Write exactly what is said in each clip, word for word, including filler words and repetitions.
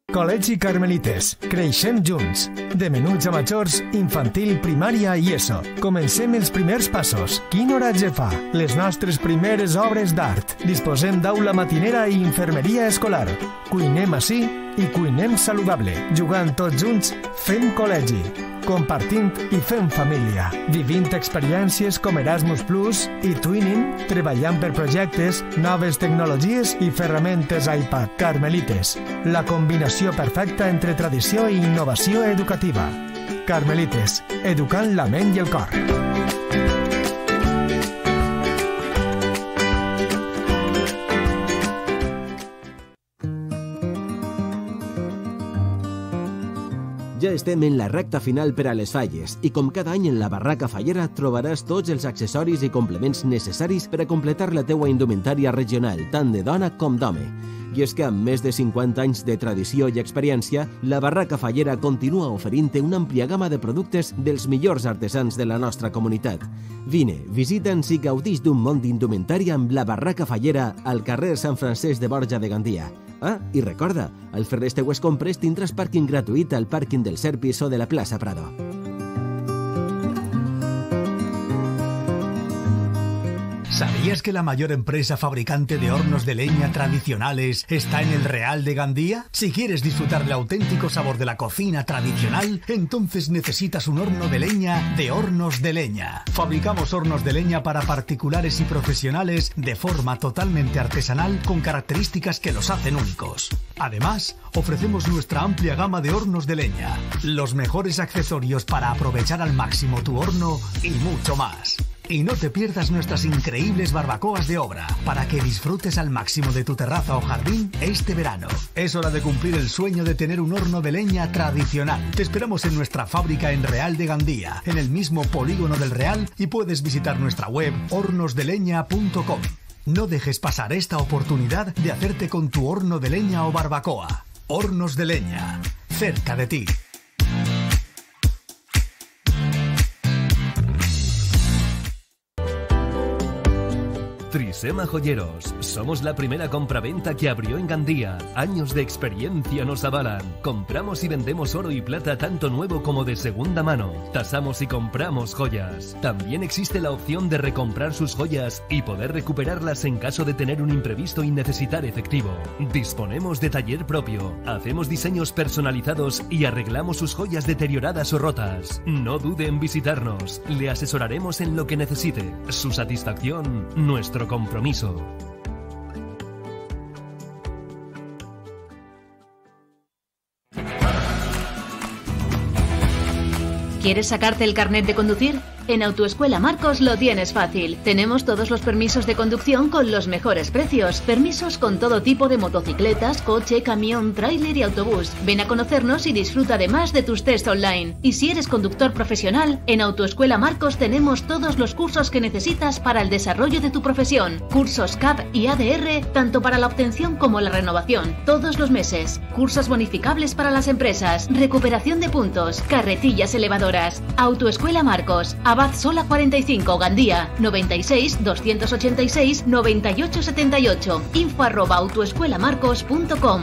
Col·legi Carmelites. Creixem junts. De menuts a majors, infantil, primària i ESO. Comencem els primers passos. Quin oratge fa? Les nostres primeres obres d'art. Disposem d'aula matinera i infermeria escolar. Cuinem ací i cuinem saludable. Jugant tots junts, fem col·legi. Compartint i fent família. Vivint experiències com Erasmus Plus i Twinning, treballant per projectes, noves tecnologies i ferramentes iPad. Carmelites. La combinació perfecta entre tradició i innovació educativa. Carmelites. Educant la ment i el cor. Ja estem en la recta final per a les falles i com cada any en la Barraca Fallera trobaràs tots els accessoris i complements necessaris per a completar la teua indumentària regional, tant de dona com d'home. I és que amb més de cinquanta anys de tradició i experiència, la Barraca Fallera continua oferint-te una àmplia gamma de productes dels millors artesans de la nostra comunitat. Vine, visita'ns i gaudix d'un món d'indumentària amb la Barraca Fallera al carrer Sant Francesc de Borja de Gandia. Ah, i recorda, al fer les teues compres tindràs pàrquing gratuït al pàrquing del Serpis o de la plaça Prado. ¿Sabías que la mayor empresa fabricante de hornos de leña tradicionales está en el Real de Gandía? Si quieres disfrutar del auténtico sabor de la cocina tradicional, entonces necesitas un horno de leña de Hornos de Leña. Fabricamos hornos de leña para particulares y profesionales de forma totalmente artesanal con características que los hacen únicos. Además, ofrecemos nuestra amplia gama de hornos de leña, los mejores accesorios para aprovechar al máximo tu horno y mucho más. Y no te pierdas nuestras increíbles barbacoas de obra para que disfrutes al máximo de tu terraza o jardín este verano. Es hora de cumplir el sueño de tener un horno de leña tradicional. Te esperamos en nuestra fábrica en Real de Gandía, en el mismo polígono del Real, y puedes visitar nuestra web hornos de leña punto com. No dejes pasar esta oportunidad de hacerte con tu horno de leña o barbacoa. Hornos de Leña, cerca de ti. Trisema Joyeros. Somos la primera compraventa que abrió en Gandía. Años de experiencia nos avalan. Compramos y vendemos oro y plata tanto nuevo como de segunda mano. Tasamos y compramos joyas. También existe la opción de recomprar sus joyas y poder recuperarlas en caso de tener un imprevisto y necesitar efectivo. Disponemos de taller propio. Hacemos diseños personalizados y arreglamos sus joyas deterioradas o rotas. No dude en visitarnos. Le asesoraremos en lo que necesite. Su satisfacción, nuestro compromiso. ¿Quieres sacarte el carnet de conducir? En Autoescuela Marcos lo tienes fácil. Tenemos todos los permisos de conducción con los mejores precios. Permisos con todo tipo de motocicletas, coche, camión, tráiler y autobús. Ven a conocernos y disfruta además de tus test online. Y si eres conductor profesional, en Autoescuela Marcos tenemos todos los cursos que necesitas para el desarrollo de tu profesión. Cursos C A P y A D R, tanto para la obtención como la renovación, todos los meses. Cursos bonificables para las empresas, recuperación de puntos, carretillas elevadoras. Autoescuela Marcos, Abad Sola cuarenta y cinco, Gandía, noventa y seis, doscientos ochenta y seis, noventa y ocho setenta y ocho, info arroba autoescuelamarcos punto com.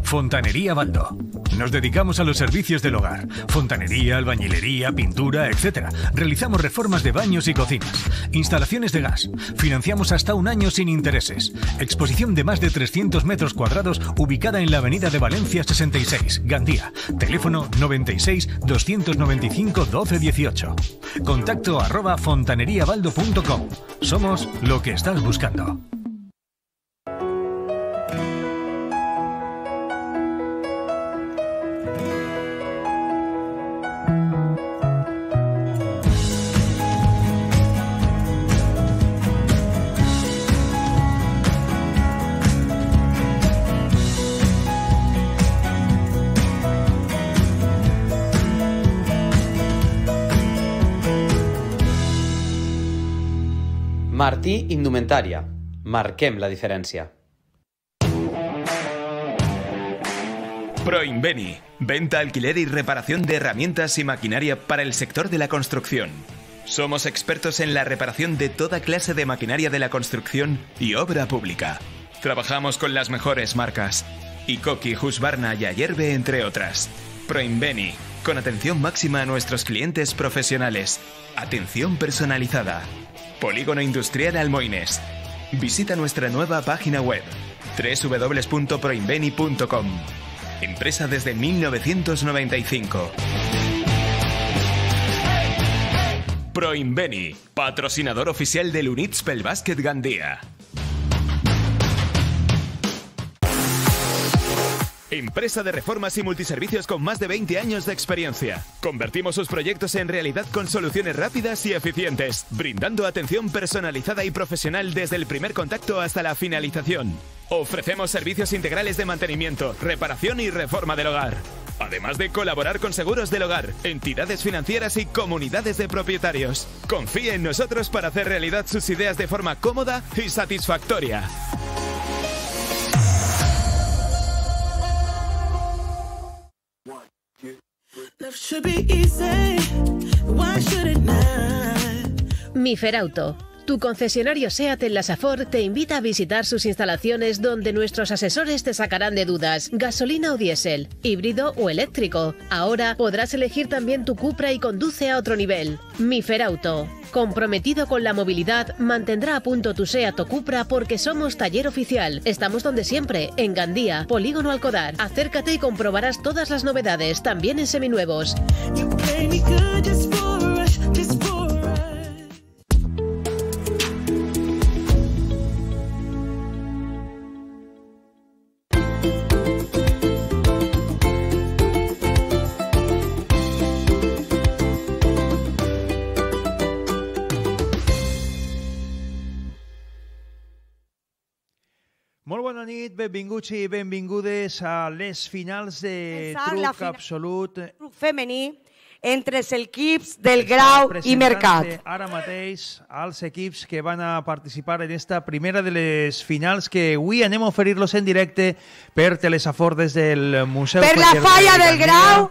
Fontanería Baldo. Nos dedicamos a los servicios del hogar. Fontanería, albañilería, pintura, etcétera. Realizamos reformas de baños y cocinas. Instalaciones de gas. Financiamos hasta un año sin intereses. Exposición de más de trescientos metros cuadrados ubicada en la avenida de Valencia sesenta y seis, Gandía. Teléfono noventa y seis, doscientos noventa y cinco, doce dieciocho. Contacto arroba fontaneriabaldo punto com. Somos lo que estás buscando. Martí Indumentària. Marquem la diferencia. Proinveni. Venta, alquiler y reparación de herramientas y maquinaria para el sector de la construcción. Somos expertos en la reparación de toda clase de maquinaria de la construcción y obra pública. Trabajamos con las mejores marcas. Icoki, Husqvarna y Ayerbe, entre otras. Proinveni, con atención máxima a nuestros clientes profesionales. Atención personalizada. Polígono Industrial Almoines. Visita nuestra nueva página web doble u doble u doble u punto proinveni punto com. Empresa desde mil novecientos noventa y cinco. Proinveni, patrocinador oficial del Unitspel Básquet Gandía. Empresa de reformas y multiservicios con más de veinte años de experiencia. Convertimos sus proyectos en realidad con soluciones rápidas y eficientes, brindando atención personalizada y profesional desde el primer contacto hasta la finalización. Ofrecemos servicios integrales de mantenimiento, reparación y reforma del hogar. Además de colaborar con seguros del hogar, entidades financieras y comunidades de propietarios. Confíe en nosotros para hacer realidad sus ideas de forma cómoda y satisfactoria. Miferauto, tu concesionario SEAT en la Safor, te invita a visitar sus instalaciones donde nuestros asesores te sacarán de dudas. Gasolina o diésel, híbrido o eléctrico. Ahora podrás elegir también tu Cupra y conduce a otro nivel. Miferauto, comprometido con la movilidad, mantendrá a punto tu SEAT o Cupra porque somos taller oficial. Estamos donde siempre, en Gandía, Polígono Alcodar. Acércate y comprobarás todas las novedades, también en seminuevos. Molt bona nit, benvinguts i benvingudes a les finals de truc fina... absolut truc femení entre els equips del Grau i Mercat. Ara mateix als equips que van a participar en esta primera de les finals que avui anem a oferir-los en directe per Telesafor des del Museu per la falla del Grau.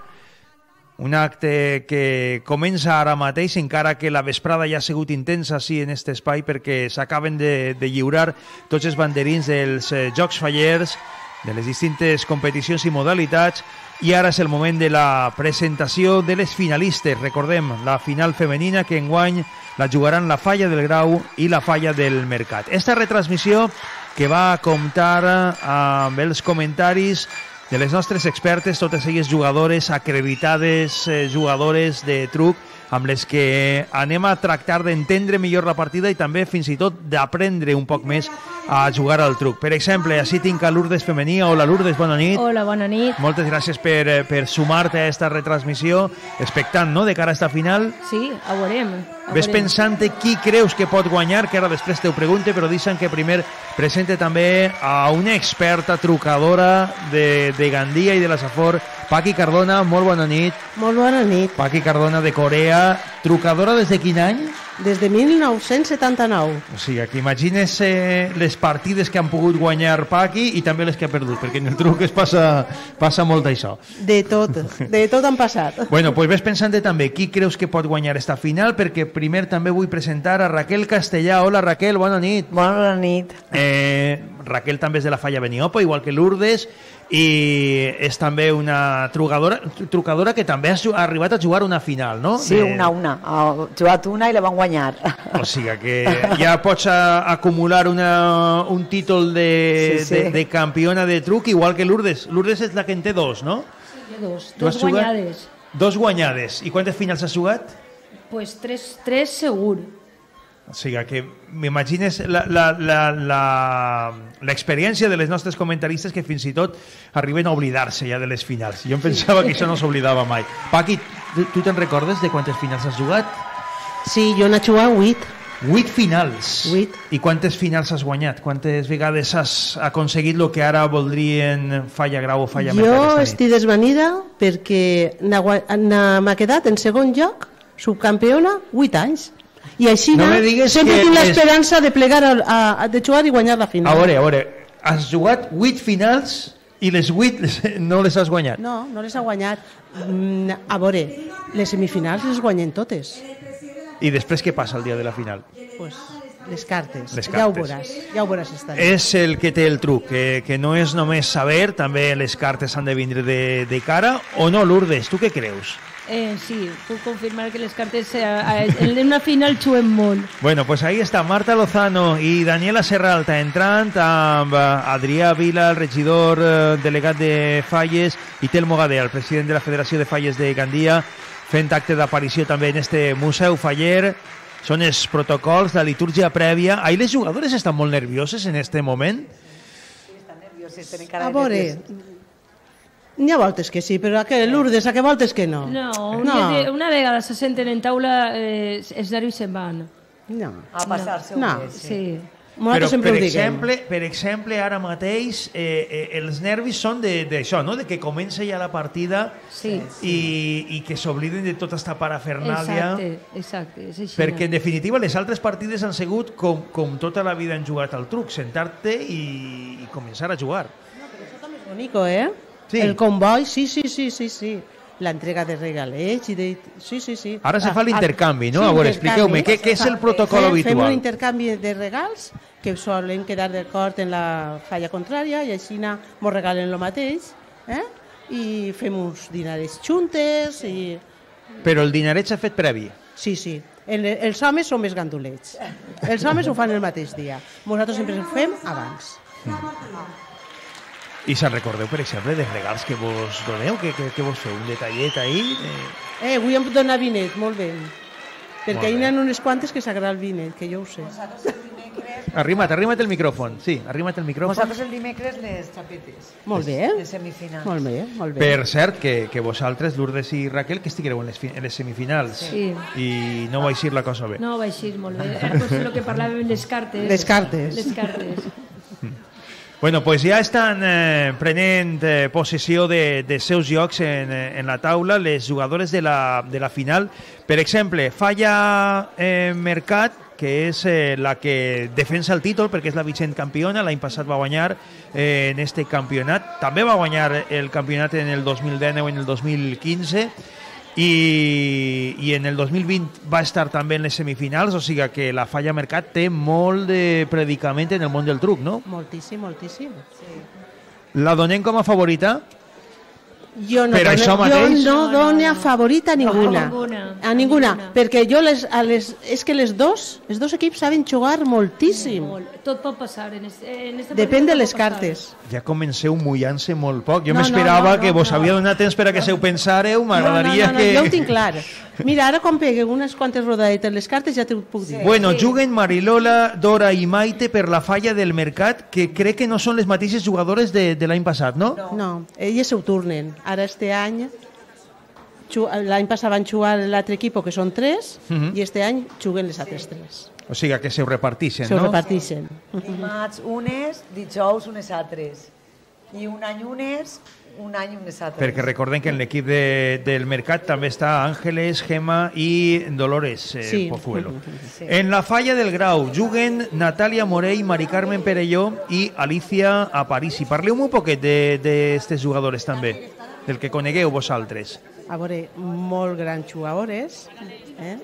Un acte que comença ara mateix, encara que la vesprada ja ha sigut intensa sí, en aquest espai, perquè s'acaben de, de lliurar tots els banderins dels eh, Jocs Fallers, de les distintes competicions i modalitats, i ara és el moment de la presentació de les finalistes. Recordem, la final femenina que enguany la jugaran la Falla del Grau i la Falla del Mercat. Esta retransmissió que va comptar amb els comentaris de les nostres expertes, totes elles jugadores acreditades, eh, jugadores de truc, amb les que anem a tractar d'entendre millor la partida i també fins i tot d'aprendre un poc més a jugar al truc. Per exemple, així tinc a Lourdes femení. Hola Lourdes, bona nit. Hola, bona nit. Moltes gràcies per, per sumar-te a aquesta retransmissió, expectant, no?, de cara a esta final. Sí, ho veurem. Ves pensant qui creus que pot guanyar, que ara després te ho pregunte, però deixa'm que primer presente també a una experta trucadora de, de Gandia i de la Safor, Paqui Cardona. Molt bona nit. Molt bona nit. Paqui Cardona de Corea, trucadora des de quin any? Des de mil nou-cents setanta-nou. O sigui, que imagines eh, les partides que han pogut guanyar Paqui i també les que ha perdut, perquè en el truc es passa, passa molt d'això. De tot, de tot han passat. Bueno, pues ves pensant també qui creus que pot guanyar esta final, perquè primer també vull presentar a Raquel Castellà. Hola Raquel, bona nit. Bona nit. Eh, Raquel també és de la Falla Beniopa, igual que Lourdes, i és també una trucadora, trucadora que també ha arribat a jugar una final, no? Sí, una, una. Ha jugat una i la van guanyar. O sigui que ja pots a, acumular una, un títol de, sí, sí. De, de campiona de truc, igual que Lourdes. Lourdes és la que en té dos, no? Sí, dos. Dos guanyades. Dos guanyades. I quantes finals has jugat? Pues tres, tres segur. O sigui que m'imagines l'experiència de les nostres comentaristes que fins i tot arriben a oblidar-se ja de les finals. Jo em pensava que això no s'oblidava mai. Paqui, tu te'n recordes de quantes finals has jugat? Sí, jo n'he jugat vuit. Vuit finals? Vuit. I quantes finals has guanyat? Quantes vegades has aconseguit el que ara voldrien Falla Grau o Falla Mercat? Jo estic desvanida perquè m'ha quedat en segon lloc, subcampiona, vuit anys. I així no sempre tinc l'esperança de plegar, a, a, de jugar i guanyar la final. A veure, a veure, has jugat vuit finals i les vuit no les has guanyat? No, no les ha guanyat. A veure, les semifinals les guanyen totes. I després què passa el dia de la final? Pues Les cartes. Les Ja ho cartes. veuràs. Ja ho veuràs esta nit. És el que té el truc, que, que no és només saber, també les cartes han de vindre de, de cara, o no, Lourdes, tu què creus? Eh, sí, puc confirmar que les cartes eh, en una final xuen molt. Bueno, pues ahí està Marta Lozano i Daniela Serralta entrant amb Adrià Vila, el regidor eh, delegat de Falles, i Telmo Gadea, el president de la Federació de Falles de Gandia, fent acte d'aparició també en este Museu Faller. Són els protocols, la litúrgia prèvia. Ahí les jugadores estan molt nervioses en este moment? A veure, n'hi ha voltes que sí, però a que Lourdes, a que voltes que no. No, No. una, una vegada se senten en taula, eh, els nervis se'n van. No. A passar-se No. un bé, sí. Sí. Nosaltres Però, sempre per ho diguem. exemple, per exemple, ara mateix, eh, eh, els nervis són de- d'això, no? De que comença ja la partida Sí. i, i que s'obliden de tota esta parafernàlia. Exacte, exacte, és així. Perquè, en definitiva, les altres partides han sigut com, com tota la vida han jugat al truc, sentar-te i, i començar a jugar. Bonico, eh? Sí. El comboi, sí, sí, sí, sí, sí. La entrega de regalets i de... Sí, sí, sí. Ara se Ah, fa l'intercanvi, no? A veure, expliqueu-me, què, què és el protocol Fem- Fem un habitual? intercanvi de regals que solen quedar d'acord en la falla contrària i així mos regalen el mateix, eh? I fem uns dinarets juntes i... Però el dinaret s'ha fet previ. Sí, sí. El, els homes són més gandulets. Els homes ho fan el mateix dia. Nosaltres sempre ho fem abans. I se'n recordeu, per exemple, dels regals que vos doneu? Que, que, que vos feu? Un detallet ahí? Eh... Eh, avui em dona vinet, molt bé. Perquè Molt hi bé. ha unes quantes que s'agrada el vinet, que jo ho sé. Arrima't, arrima't el micròfon. Sí, arrima't el micròfon. Nosaltres el dimecres les xapetes. Molt bé. Les semifinals. Molt bé, molt bé. Per cert, que, que vosaltres, Lourdes i Raquel, que estigueu en les, fi- en les semifinals. Sí. I no va eixir la cosa bé. No, va així molt bé. Era pues, el que parlàvem, les cartes. Les cartes. Les cartes. Bueno, pues ja estan eh, prenent eh, possessió de, de seus llocs en, eh, en la taula les jugadores de la, de la final. Per exemple, Falla eh, Mercat, que és eh, la que defensa el títol perquè és la vigent campiona, l'any passat va guanyar eh, en este campionat, també va guanyar el campionat en el dos mil dinou i en el dos mil quinze, i, i en el dos mil vint va estar també en les semifinals, o sigui que la Falla Mercat té molt de predicament en el món del truc, no? Moltíssim, moltíssim. Sí. La donem com a favorita? Jo no, Per dono, això jo mateix? no dono a favorita a ninguna. No, a ninguna. A ninguna, perquè jo les, a les, és que les dos, els dos equips saben jugar moltíssim. Molt. Tot pot passar. En este, en este Depèn partit de tot les pot passar. cartes. Ja comenceu mullant-se molt poc. Jo No, m'esperava no, no, que no, vos no. havia donat temps per a que se ho pensàreu. No, no, M'agradaria no, no, que... jo ho tinc clar. Mira, ara quan pegue unes quantes rodadetes les cartes ja t'ho puc dir. Bueno, juguen Marilola, Dora i Maite per la Falla del Mercat, que crec que no són les mateixes jugadores de, de l'any passat, no? No, no, elles s'ho turnen. Ara este any, ju- l'any passat van jugar l'altre equip, que són tres, Mhm. i este any juguen les altres tres. O sigui, que se ho repartixen, Se ho no? repartixen. Dimarts unes, dijous unes altres. I un any unes, un any unes altres. Perquè recordem que en l'equip de, del Mercat també està Àngeles, Gema i Dolores eh, Sí. Pozuelo. Sí. En la Falla del Grau juguen Natàlia Morell, Mari Carmen Perelló i Alicia Aparici. Parleu-me un poquet d'aquestes jugadores també, del que conegueu vosaltres. A veure, molt grans jugadores, eh?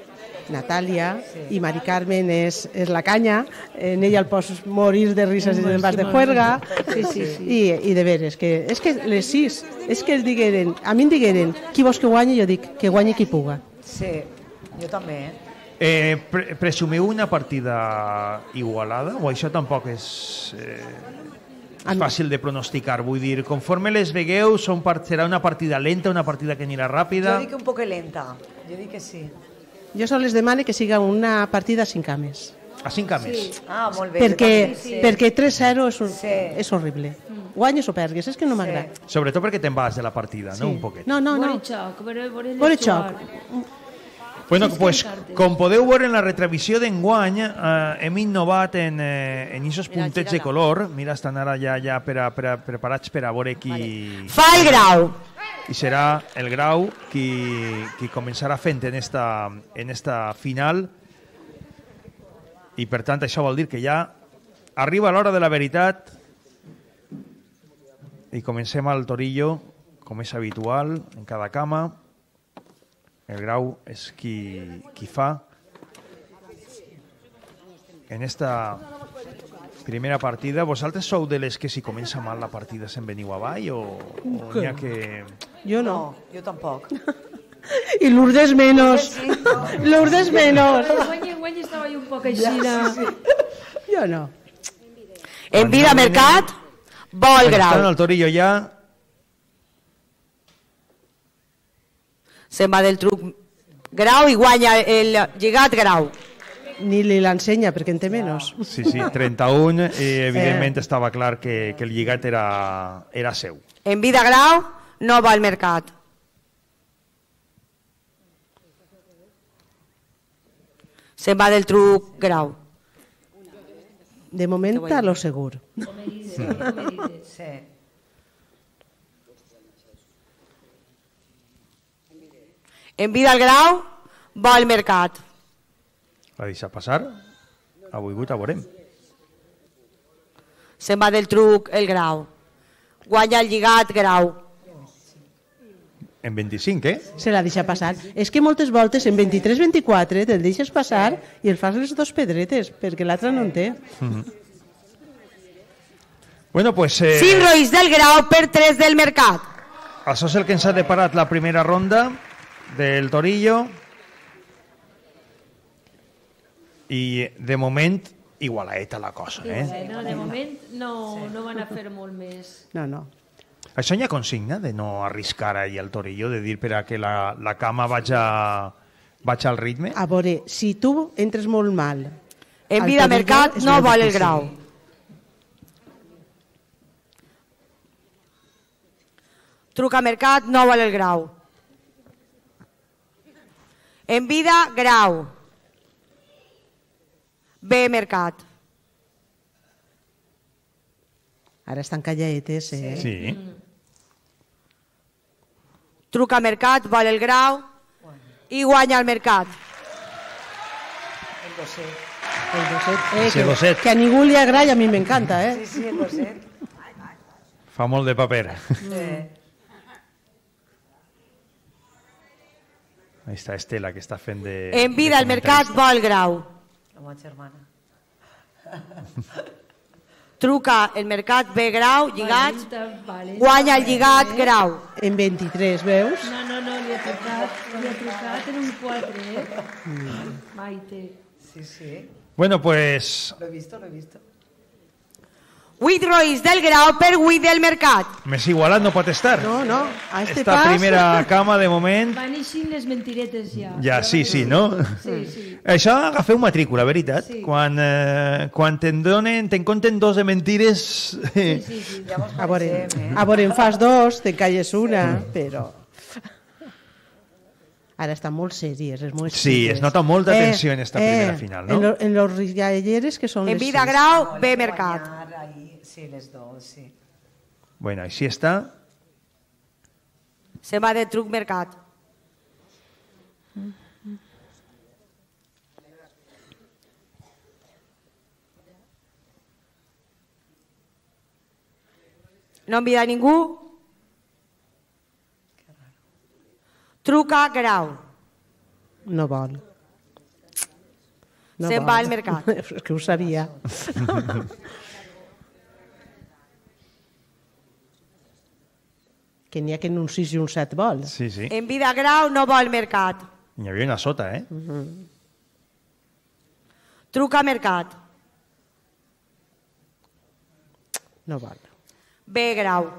Natàlia i Mari Carmen és, és la canya, en ella el pots morir de risas i te'n vas de juerga, Sí, sí, sí. I, i de veres, que, és que les sis, és que el digueren, a mi em digueren, qui vols que guanyi? Jo dic, que guanyi qui puga. Sí, jo també, eh? Eh, pre presumiu una partida igualada o això tampoc és, eh, és fàcil de pronosticar? Vull dir, conforme les vegueu, són part, serà una partida lenta, una partida que anirà ràpida? Jo dic un poc lenta, jo dic que sí. Jo sols les demane que siga una partida a cinc cames. A cinc cames? Sí. Ah, molt bé. Perquè, jo també. Sí. perquè tres zero és, Sí. és horrible. Guanyes o pergues, és que no m'agrada. Sobretot perquè te'n vas de la partida, no? Un poquet. No, no, no. Vore xoc, vore, vore Vore jugar. xoc. Bueno, Sí, pues, sí, cartes. com podeu veure en la retravisió d'enguany, eh, hem innovat en, eh, en aquests Mira, puntets de gira-la. color. Mira, estan ara ja, ja per a, per a, preparats per a veure qui... Fa el grau. I serà el Grau qui, qui començarà fent en esta, en esta final. I, per tant, això vol dir que ja arriba l'hora de la veritat i comencem al Torillo, com és habitual, en cada cama. El Grau és qui, qui fa. en esta primera partida. Vosaltres sou de les que si comença mal la partida se'n veniu avall o, o n'hi ha que... Jo no. Jo tampoc. I Lourdes menos. Lourdes menos. Guany, guany estava jo un poc així. Jo no. En vida mercat, vol grau. Està en el Torillo ja. Se'n va del truc grau i guanya el lligat grau. Ni li l'ensenya perquè en té menys. Sí, sí, trenta-un, i evidentment estava clar que, que el lligat era, era seu. En vida grau, no va al mercat. Se'n va del truc grau. De moment a lo segur. Sí. En vida al grau, va al mercat. La deixa passar? Ha volgut, a veurem. Se'n va del truc el grau. Guanya el lligat grau. En vint-i-cinc, eh? Se la deixa passar. És que moltes voltes en vint-i-tres vint-i-quatre te'l deixes passar i el fas les dos pedretes, perquè l'altre no en té. Mm-hmm. Bueno, pues... Eh, cinc roïs del grau per tres del mercat. Això és el que ens ha deparat la primera ronda del Torillo. I de moment igualaeta la cosa, eh? No, de moment no, no van a fer molt més. No, no. Això hi ha consigna de no arriscar ahir el Torillo, de dir per a que la, la cama vaig, a, vaig al ritme? A veure, si tu entres molt mal... En vida mercat no val el grau. Truca mercat no val el grau. En vida, grau. B mercat. Ara estan callaetes, eh? Sí. Truca mercat, val el grau i guanya el mercat. El doset. El doset. Eh, Ese que, doset. que a ningú li agrada i a mi m'encanta, eh? Sí, sí, el doset. Fa molt de paper. Sí. Ahí està Estela, que està fent de... En vida, el mercat vol grau. La meva germana. Truca el mercat B grau, lligat, Vale. guanya el lligat grau. En vint-i-tres, veus? No, no, no, li ha trucat, li ha trucat en un quatre, eh? Mm. Maite. Sí, sí. Bueno, pues... Lo he visto, lo he visto. vuit roïs del grau per vuit del mercat. Més igualat no pot estar. No, no. A este Esta pas... primera cama, de moment... Van eixir les mentiretes ja. Ja, sí, sí, no? Sí, sí. Això agafeu matrícula, veritat. Sí. Quan, eh, quan te'n donen, te'n compten dos de mentires... Sí, sí, sí. Ja mos A veure, coneixem, eh? a veure, en fas dos, te calles una, però... Ara estan molt sèries, és molt Sí, sèries. es nota molta tensió en esta primera final, no? En, lo, en los rialleres que són En les vida sis. grau, B mercat. Guanyar ahí, sí, les dos, sí. Bueno, així està. Se va de truc mercat. No envida ningú. Truca grau. No vol. No Se'n vol. va al mercat. És que ho sabia. Que n'hi ha que en un sis i un set vol. Sí, sí. En vida grau no vol mercat. N'hi havia una sota, eh? Truca mercat. No vol. B grau.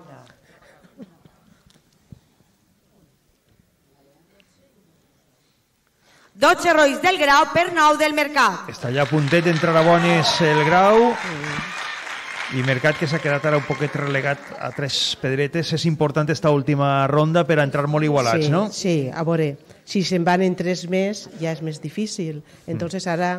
dotze roïs del grau per nou del mercat. Està ja a puntet d'entrar a bones el grau i Mercat, que s'ha quedat ara un poquet relegat a tres pedretes. És important esta última ronda per a entrar molt igualats, sí, no? Sí, a veure, si se'n van en tres més ja és més difícil. Entonces ara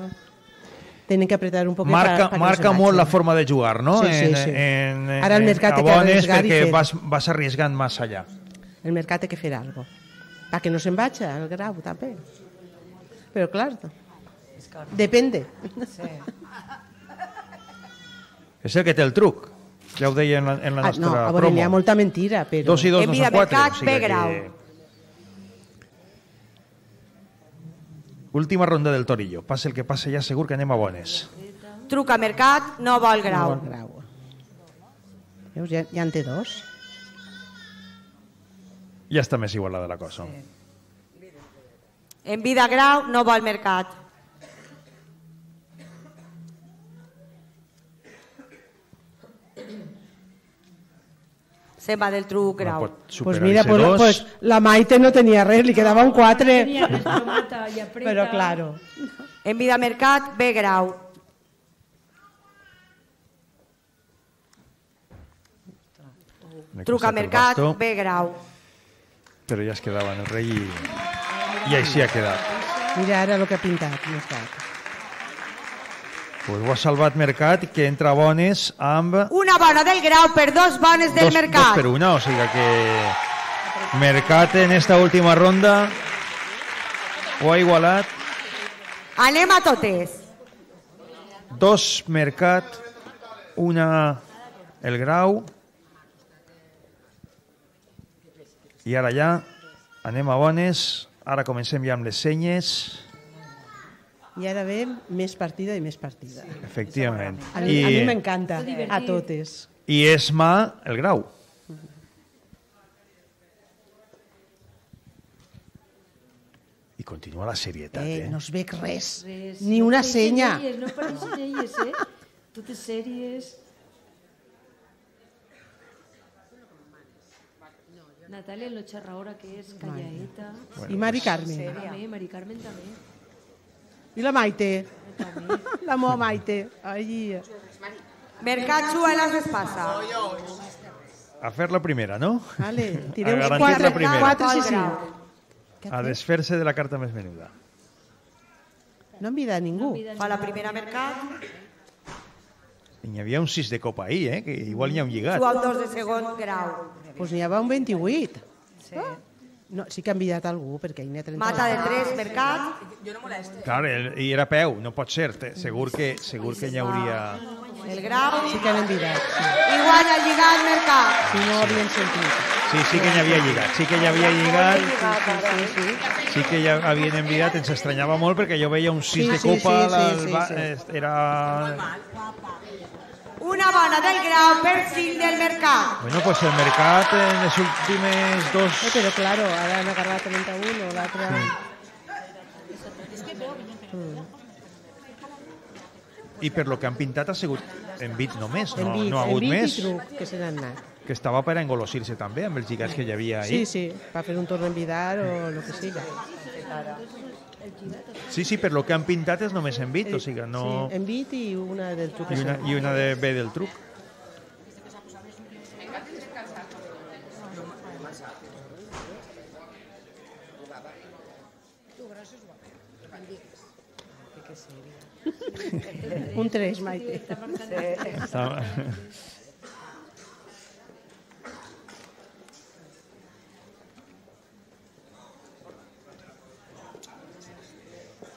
tenen que apretar un poquet Marca, para, para marca no molt la forma de jugar, no? Sí, sí, en, sí. En, en, Ara el Mercat en té que abones arriesgar i perquè fer. vas, vas arriesgant massa allà. El Mercat té que fer alguna cosa. Perquè no se'n vagi al grau, també. Però, clar, depende. Sí. És el que té el truc. Ja ho deia en la, en la Ah, nostra no, a veure, promo. n'hi ha molta mentira, però... Dos i dos En no vida són quatre. mercat, o sigui B grau. que... Última ronda del Torillo. Passa el que passa, ja segur que anem a bones. Truca Mercat, no vol grau. No vol grau. Veus, ja, ja en té dos. Ja està més igualada la cosa. En vida grau, no vol Mercat. Se'n va del truc grau. Doncs pues mira, pues, pues, la Maite no tenia res, li quedava un quatre. Però claro. En vida Mercat, B grau. Truca Mercat, B grau. Però ja es quedava en el rei i, i així ha quedat. Mira ara el que ha pintat Mercat. Pues ho ha salvat Mercat, que entra bones amb... Una bona del grau per dos bones del dos, Mercat. Dos per una, o sigui que Mercat en esta última ronda ho ha igualat. Anem a totes. Dos Mercat, una el grau. I ara ja anem a bones. Ara comencem ja amb les senyes. I ara ve més partida i més partida. Efectivament. A mi, I... mi m'encanta, a totes. I és mà el grau. I continua la serietat, eh? Eh, no es veig res, res. Ni una senya. Elles, no pareixen elles, eh? Totes sèries. Natàlia, lo xerraora que és, calladeta. Bueno, I Mari Carmen. També, Mari Carmen també. I la Maite. La meva Maite. Allí. Mercat Xuelas es passa. A fer la primera, no? Vale, tireu uns quatre, quatre i cinc. A desfer-se de la carta més menuda. No envida a ningú. Fa la primera Mercat. N'hi havia un sis de copa ahir, eh? Que igual n'hi ha un lligat. Tu al dos de segon grau. Doncs pues n'hi havia un vint-i-vuit. Sí. Ah. No, sí que ha enviat algú, perquè hi n'hi ha trenta. Mata de tres, Mercat. Jo no molesto. Clar, i era peu, no pot ser. Segur que, segur que n'hi hauria... El grau. Sí que han enviat. Sí. Igual ha lligat Mercat. Si no ho havien sentit. Sí, sí que n'hi havia lligat. Sí que n'hi havia lligat. Sí, sí, sí. Sí que ja havien enviat. Ens estranyava molt perquè jo veia un sis sí, de copa. Sí, sí, sí, sí, sí. Era... Una bona del grau per cinc del Mercat. Bueno, pues el Mercat en les últimes dos... Eh, pero claro, ara han agarrat trenta-un, l'altre... Sí. Mm. I per lo que han pintat ha sigut en bit només, no, bit, no ha hagut més. En bit i truc, que se n'han anat. Que estava per engolosir-se també amb els lligats que hi havia ahir. Sí, sí, per fer un torn en vidar o el que siga. Sí, sí, per lo que han pintat és només en bit, o sigui, no... Sí, en bit i una del truc. I una, i una de B del truc. Un tres, Maite. Està...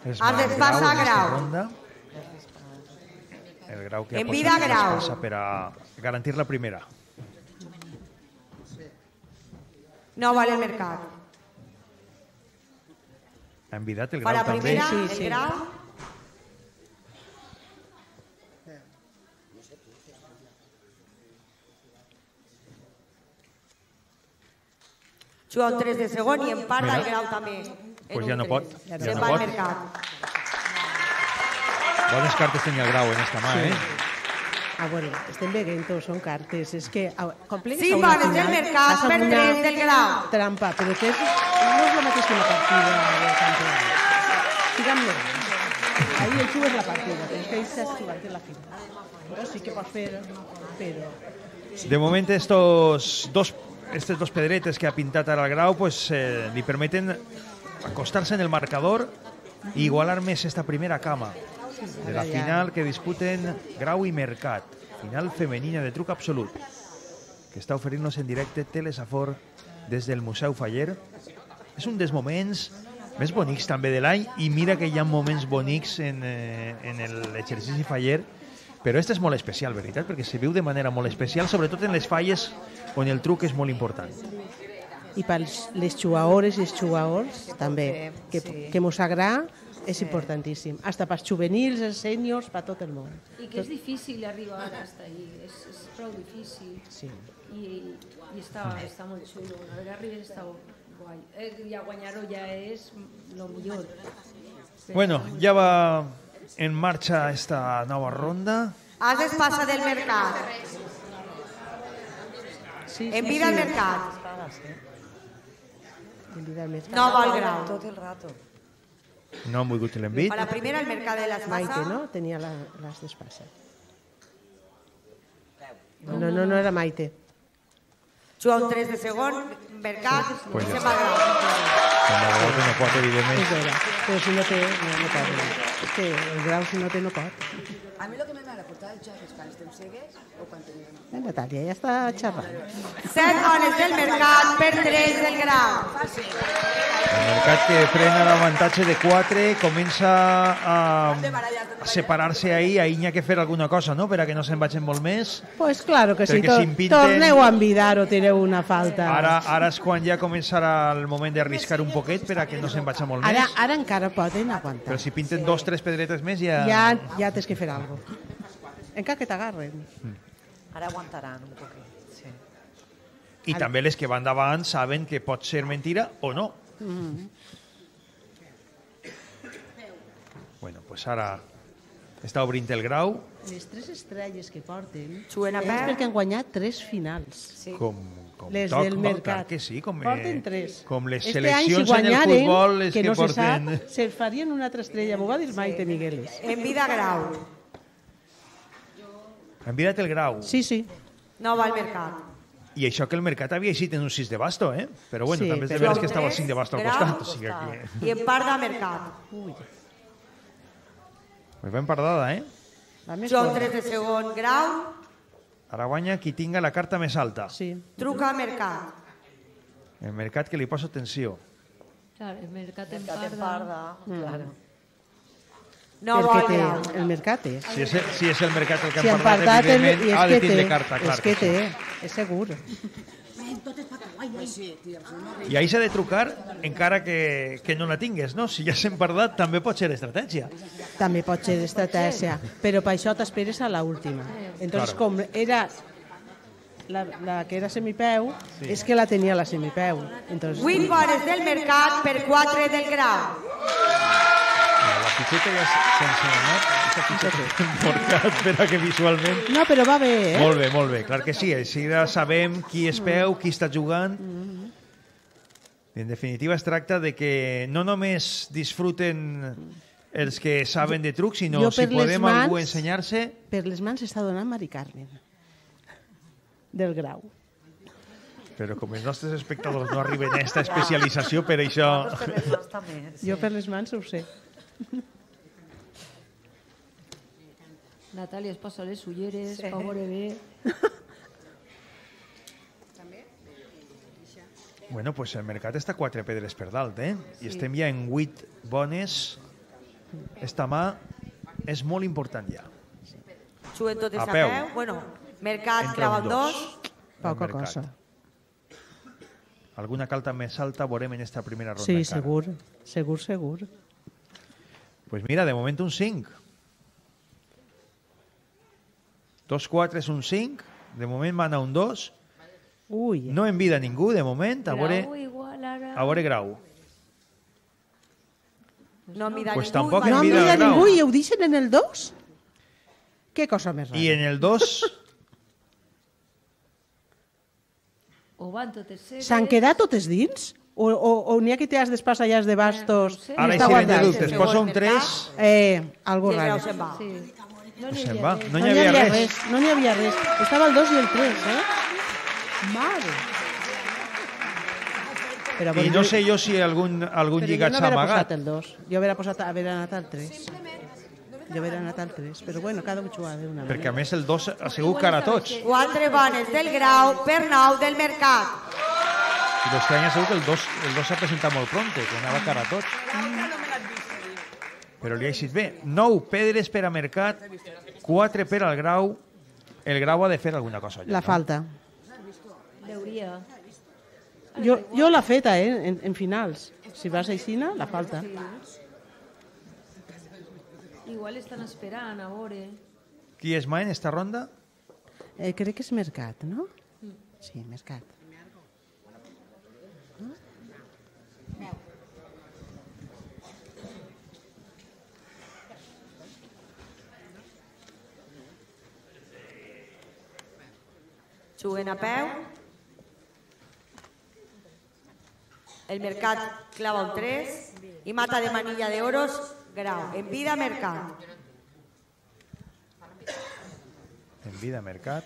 Has d'espassa grau. Ronda. El grau que ha en vida grau. Passa per a garantir la primera. No vale el Mercat. Ha envidat el grau també. Fa la primera, també. Sí, sí. El grau. Juga un tres de segon i en part del grau també. Pues ja no pot. Ja ja no no pot. Mercat. Bones cartes tenia el grau en esta mà, sí. eh? Ah, bueno, estem veient, són cartes. És que... Sí, bones del Mercat per tres del grau. Trampa, però que és, no és la mateixa que una partida del campionat. Digue'm-lo. Ahí el xugo és la partida, però és que ahí s'ha jugat en la final. Però sí que pots fer, però... De moment, estos dos, estos dos pedretes que ha pintat ara el grau pues, eh, li permeten acostar-se en el marcador i igualar més esta primera cama de la final que disputen Grau i Mercat, final femenina de truc absolut, que està oferint-nos en directe Telesafor des del Museu Faller. És un dels moments més bonics també de l'any, i mira que hi ha moments bonics en, eh, en l'exercici Faller, però este és molt especial, veritat, perquè se viu de manera molt especial, sobretot en les falles on el truc és molt important. i per les jugadores i els jugadors també, que, que mos agrada, és importantíssim. Hasta per juvenils, els sèniors, per tot el món. I que és difícil arribar hasta ahí, és, és prou difícil. Sí. I, i està, està molt xulo. Una vegada arribes està guai. Eh, ja guanyar-ho ja és lo millor. Bueno, ya va en marcha esta nueva ronda. Haces pasa del mercat. Sí, sí, Envida al sí. mercat. Envida al mercat. No va al grau. Tot el rato. No han volgut l'envit. A la primera, el mercat de les Maite, pasa. no? Tenia la, les d'espasa. No, no, no, no era Maite. Juga un tres de segon, mercat, Pues i ja se'n va al grau. Com a volta no pot, evidentment. És vera. Però si no té, no, no pot. No. És que el grau, si no té, no pot. A mi lo que me va a portar el xat és quan estem cegues o quan tenim... La Natàlia ja està xerrant. Set bones del mercat per tres del grau. El mercat que frena l'avantatge de quatre comença a, a separar-se ahí, ahí n'hi ha que fer alguna cosa, no?, per a que no se'n vagin molt més. Pues claro que sí, Perquè to si impinten- torneu a envidar o tireu una falta. Ara, ara és quan ja començarà el moment d'arriscar un poquet per a que no se'n vagi molt Ara, més. ara encara poden aguantar. Però si pinten dos, tres pedretes més ja... Ja, ja tens que fer alguna cosa. Encara que t'agarren. Ara aguantaran un poquet. Sí. I també les que van davant saben que pot ser mentira o no. Mm. Bueno, pues ara està obrint el grau. Les tres estrelles que porten Juguen a és peu. perquè han guanyat tres finals. Sí. Com, com Les toc, del no? mercat. Clar que sí, com, eh, Porten tres. com les Este any, si seleccions en el guanyaren, futbol les que, no se porten... sap, se farien una altra estrella. M'ho va dir Maite Migueles. Envida grau. Han mirat el grau. Sí, sí. No va al mercat. I això que el mercat havia eixit en un sis de basto, eh? Però bueno, Sí, també és de però- veres que estava el cinc de basto al Grau, costat. O sigui que... I en part de mercat. Ui, Pues ben pardada, eh? la més Juga un forta. tres de segon, grau, Ara guanya qui tinga la carta més alta. Sí. truca a mercat. El mercat que li posa atenció. Clar, el mercat en Mercat en parda. parda, claro. No El va que al té, grau. el mercat és. Si és, si és el mercat el que Si ha han parlat, parlat, el, evidentment, i és ha de que tindre té, carta, clar. és que sí. té, és segur. I ahí s'ha de trucar encara que, que no la tingues, no? Si ja s'han parlat, també pot ser estratègia. També pot ser estratègia, però per això t'esperes a l'última. Entonces, Claro. com era la, la que era semipeu, Sí. és que la tenia la semipeu. Entonces, Vuit bones del mercat per quatre del grau. La fitxeta ja sense anat, aquesta fitxeta important per a que visualment... no, però va bé, eh? Molt bé, molt bé, clar que sí. Així ja sabem qui és peu, qui està jugant. En definitiva, es tracta de que no només disfruten els que saben de trucs, sinó Jo si per les podem mans- algú ensenyar-se... Per les mans està donant Mari Carmen, del grau. Però com els nostres espectadors no arriben a aquesta especialització, per això... Per les mans també. Sí. Jo per les mans ho sé. Natàlia es posa les ulleres, sí. Fa veure bé. Bueno, pues el mercat està quatre pedres per dalt, eh? I estem ja en vuit bones. Esta mà és molt important ja. Juguen totes A a peu. peu. Bueno, mercat Entra clava un el dos. dos. Poca Mercat. cosa. Alguna calta més alta veurem en esta primera ronda Sí, encara. segur, segur, segur. Pues mira, de moment un cinc. Dos quatre és un cinc. De moment mana un dos. Ui. No envida ningú, de moment. A veure, Grau igual ara... a veure grau. No mira Pues ningú. tampoc i va- No envida mira el grau. ningú i ho deixen en el dos? Què cosa més rara. I en el dos... O van totes cegues... S'han quedat totes dins? O, o, o n'hi ha que té has d'espasa i has de bastos? No sé. i Ara, està si vende guardat? dubtes, posa un tres... Eh, algo I el raro. grau se'n va. Sí. No Pues n'hi se'n havia va. res. No n'hi havia res. No n'hi havia res. Estava el dos i el tres, eh? Mare. Però, I no sé jo si algun, algun però jo lligat no s'ha hauria amagat. posat el dos. Jo hauria posat, haver anat al tres. Jo hauria anat al tres. Però bueno, cada un juga d'una Perquè a manera. més el dos ha sigut cara a tots. Quatre bones del grau per nou del mercat. I l'este any ha sigut que el dos el dos s'ha presentat molt pronte, que anava cara a tots. Però li ha eixit bé. Nou pedres per a mercat, quatre per al grau. El grau ha de fer alguna cosa allà. La no? falta. Deuria. Jo, jo l'ha feta, eh, en, en finals. Si vas a Ixina, la falta. Igual estan esperant a veure. Qui és mà en esta ronda? Eh, crec que és Mercat, no? Sí, Mercat. Juguen a peu. El Mercat clava un tres y mata de manilla de oros Grau. En vida Mercat. En vida Mercat.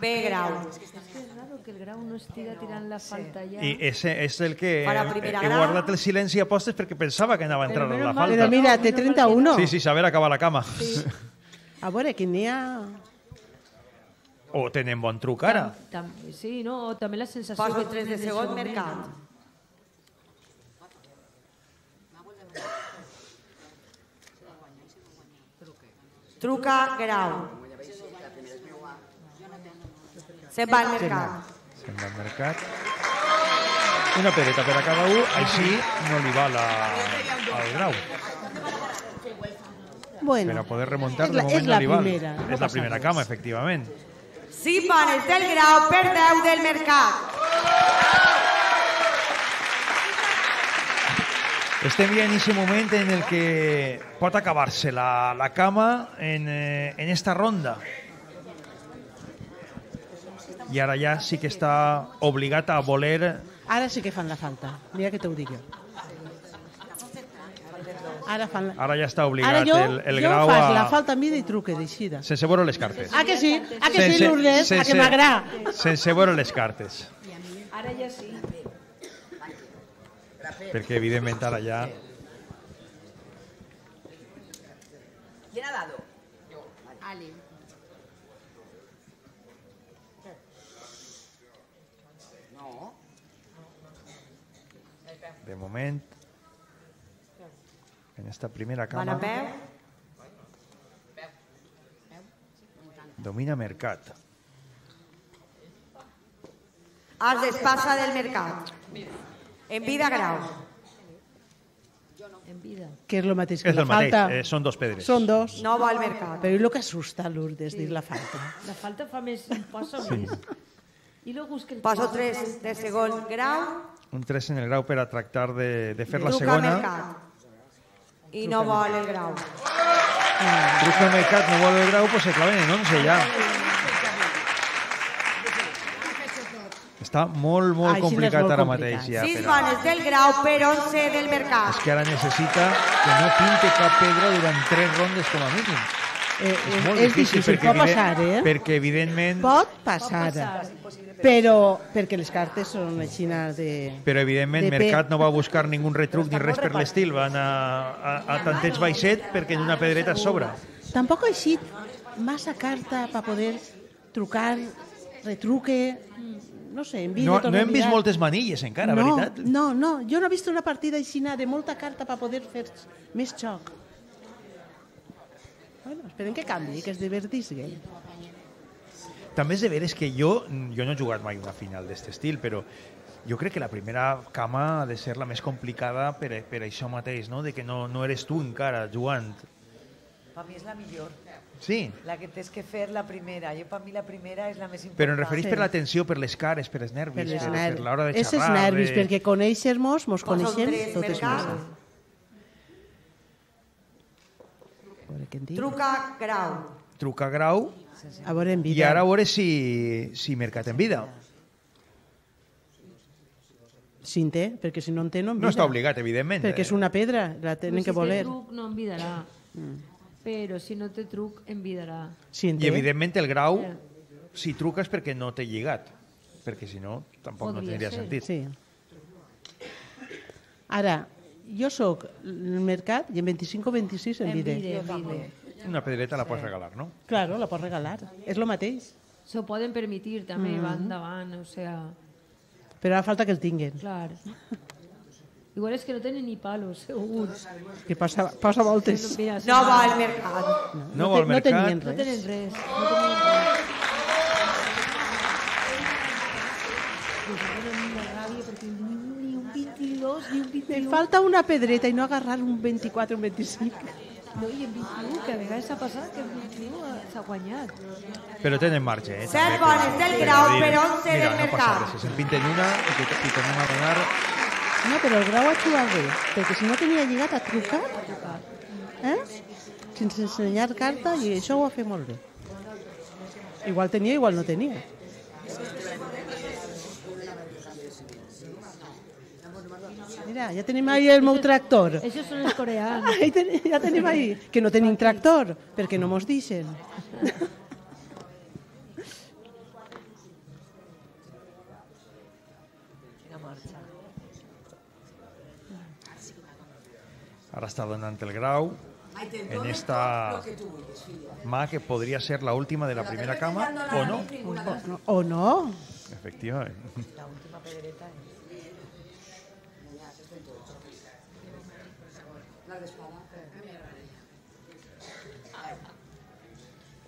B Grau. És que és raro que el Grau no estiga tirant la falta ja. I ese és el que Para he, primera he grau. guardat el silenci a postes perquè pensava que anava a entrar Però la menos mal falta. Però mira, té trenta-un. Sí, sí, saber acabar la cama. Sí. A veure, que n'hi ha... O tenen bon truc ara. Tam, tam, sí, no? O també la sensació... Paso que tres de tenen segon això, Mercat. Truca Grau. Se'n va al Mercat. Se'n va al Mercat. Una pedreta per a cada un, així no li va la, al Grau. Bueno, Per a poder remuntar, és de la- moment és no la li val. primera, no És la passa primera res. cama, efectivament. Cinc panes del Grau per deu del Mercat. Estem ja en aquest moment en el que pot acabar-se la, la cama en, eh, en esta ronda. I ara ja sí que està obligat a voler... Ara sí que fan la falta. Mira que t'ho dic jo. Ara fan la... Ara ja està obligat Ara jo, el, el jo Grau fas a... la falta en vida i truque d'eixida. Sense veure les cartes. Ah, que sí? Ah, que sí, Lourdes? Ah, que m'agrada. Sense veure les cartes. Ara ja sí. Perquè, evidentment, ara ja... ¿Quién ha dado? Yo. Ale. No. De moment, en esta primera Van a cama, peu. domina Mercat. As despasa del Mercat. En vida Grau. En vida. Que és el mateix que És la el mateix, falta. eh, són dos pedres. Són dos. No va al Mercat. Però és el que assusta, Lourdes, dir la falta. La falta fa més... Passa Sí. més. I luego es que el... Paso tres de segon Grau. Un tres en el Grau per a tractar de, de fer la Truca segona. Mercat. I no vol el Grau. Truca Mercat, no vol el Grau, pues se claven en once ja. Està molt, molt Així complicat és molt ara complicat. mateix. Ja, Sis per a... panes del Grau per onze del Mercat. És que ara necessita que no pinte cap pedra durant tres rondes com a mínim. Eh, És molt és difícil, difícil, perquè, pot passar, evident- eh? perquè evidentment... Pot passar. Però perquè les cartes són així de... Però evidentment de pe- Mercat no va buscar ningú retruc ni res per l'estil. Van a, a, a tanteig baixet perquè en una pedreta sobra. Tampoc ha eixit massa carta per poder trucar, retruque... No sé, en vídeo... No, torno no a hem vist mirar. moltes manilles encara, no, veritat? No, no, jo no he vist una partida aixina de molta carta per poder fer més xoc. Bueno, esperem que canvi, que es divertisgui. També és de veres que jo, jo no he jugat mai una final d'aquest estil, però jo crec que la primera cama ha de ser la més complicada per, per això mateix, no? De que no, no eres tu encara jugant. Per mi és la millor. Sí, La que tens que fer la primera. Jo, per mi, la primera és la més important. però em referís per l'atenció, per les cares, per els nervis, Per per, les per, nervis. l'hora de Esses xerrar. nervis, de... perquè conèixer-nos, mos Posa un coneixem tres, totes Mercat. massa. A veure què en diu. Truca Grau. Truca Grau A veure en i vida. ara a veure si, si Mercat en vida. Si en té, perquè si no en té no en No vida. està obligat, evidentment. Perquè és una pedra, la tenen que voler. Si té truc, no envidarà. Però si no té truc, envidarà. Si en I té. evidentment el Grau, si truca és perquè no té lligat, perquè si no tampoc no Podria tindria ser. sentit. Sí. Ara, jo sóc el Mercat i en vint-i-cinc o vint-i-sis en vide. Envide, envide. Una pedreta la pots regalar, no? Claro, la pots regalar. És el mateix. S'ho poden permitir també, Mhm. va endavant, o sea, Però ara falta que el tinguin. clar. Igual és que no tenen ni palos, segur. Que posa, posa voltes. Mira, No va al Mercat. No, No te- vol no Mercat. tenien No res. tenen res. No tenen res. pues ara no una ràbia perquè ni un vint-i-dos ni un vint-i-un. Me falta una pedreta i no agarrar un vint-i-quatre o un vint-i-cinc. No, i en vint-i-un, que a vegades s'ha passat que en vint-i-un s'ha guanyat. Però tenen marge, eh? set també, boles per- del per Grau dir, per onze mira, del no passa Mercat. res, si se'n pinten una i que i tornem a donar... No, però el Grau ha jugat bé, perquè si no tenia lligat ha trucat, eh? sense ensenyar carta, i això ho ha fet molt bé. Igual tenia, igual no tenia. Mira, ja tenim ahí el meu tractor. Això són els coreans. Ahí ten, ja tenim ahí. Que no tenim tractor, perquè no mos deixen. Ara està donant el Grau en esta mà que podria ser la última de la primera cama, o no. O no. Efectivament. La última pedreta es... La d'espada.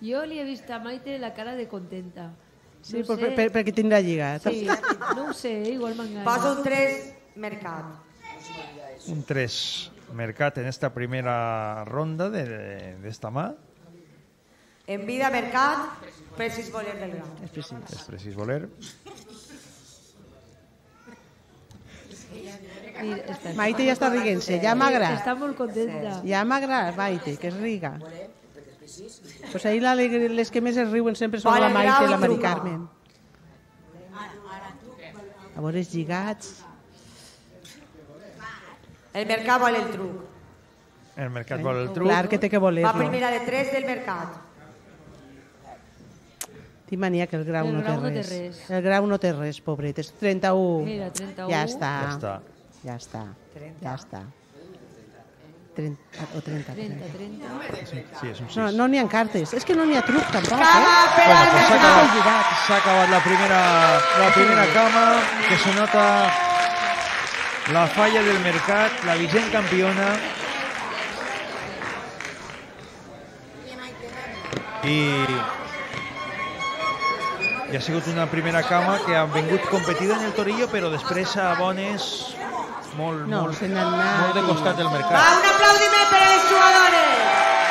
Jo li he vist a Maite la cara de contenta. Sí, No per, sé. per, perquè tindrà lligat. Sí, no ho sé, igual m'enganya. Posa un tres, Mercat. Un tres Mercat en esta primera ronda de, de, de esta mà. En vida, Mercat, precis voler del Grau. És precís. És precís voler. Mira, està- Maite ja està riguent-se, ja m'agrada. Està molt contenta. Ja m'agrada, Maite, que es riga. Pues ahí la, les que més es riuen sempre són Vale, la Maite Grau i la i Mari truca. Carmen. A veure, els lligats... El Mercat vol el truc. El Mercat vol el truc. Clar que té que Va voler-lo. primera de tres del Mercat. Tinc mania que el Grau, El no, Grau té no té res. res. El Grau no té res, pobret. És trenta-u. Mira, trenta-u. Ja està. Ja està. Ja està. Ja està. trenta o trenta. trenta, trenta. Sí, sí, és un sis. No, no n'hi ha cartes. És que no n'hi ha truc, tampoc. Cama Eh? per Bueno, al pues s'ha Mercat. acabat, s'ha acabat la primera, la primera cama, que se nota la falla del Mercat, la vigent campiona. I, i ha sigut una primera cama que ha vingut competida en el Torillo, però després a bones molt, No, molt, se n'han anat. molt de costat del Va, Mercat. un aplaudiment per a les jugadores.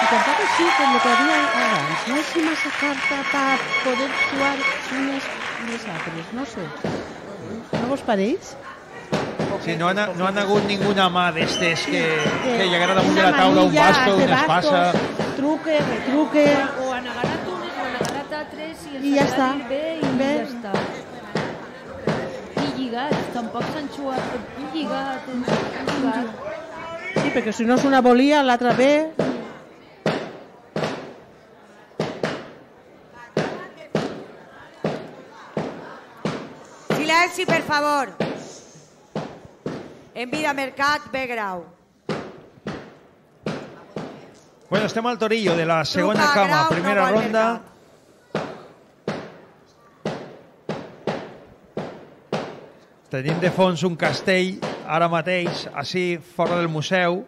I tampoc així com el que havia abans. No és massa carta per poder jugar unes i les altres. No sé. No vos pareix? Sí, no, han, no han hagut ninguna mà d'estes que, que llegara damunt de Una la taula, un manilla, basto, hace una espasa... bastos, truque, retruque... O han agarrat unes o han agarrat altres i els I ja han està. dit bé i Bé. ja està. I lligats, tampoc s'han xuat. Un lligat, un lligat. Sí, perquè si no és una volia, l'altra ve... Silenci, per favor. En vida, Mercat, B Grau. Bueno, estem al Torillo de la segona Truca, cama, Grau, primera no vol ronda. Tenim de fons un castell, ara mateix, així, fora del museu,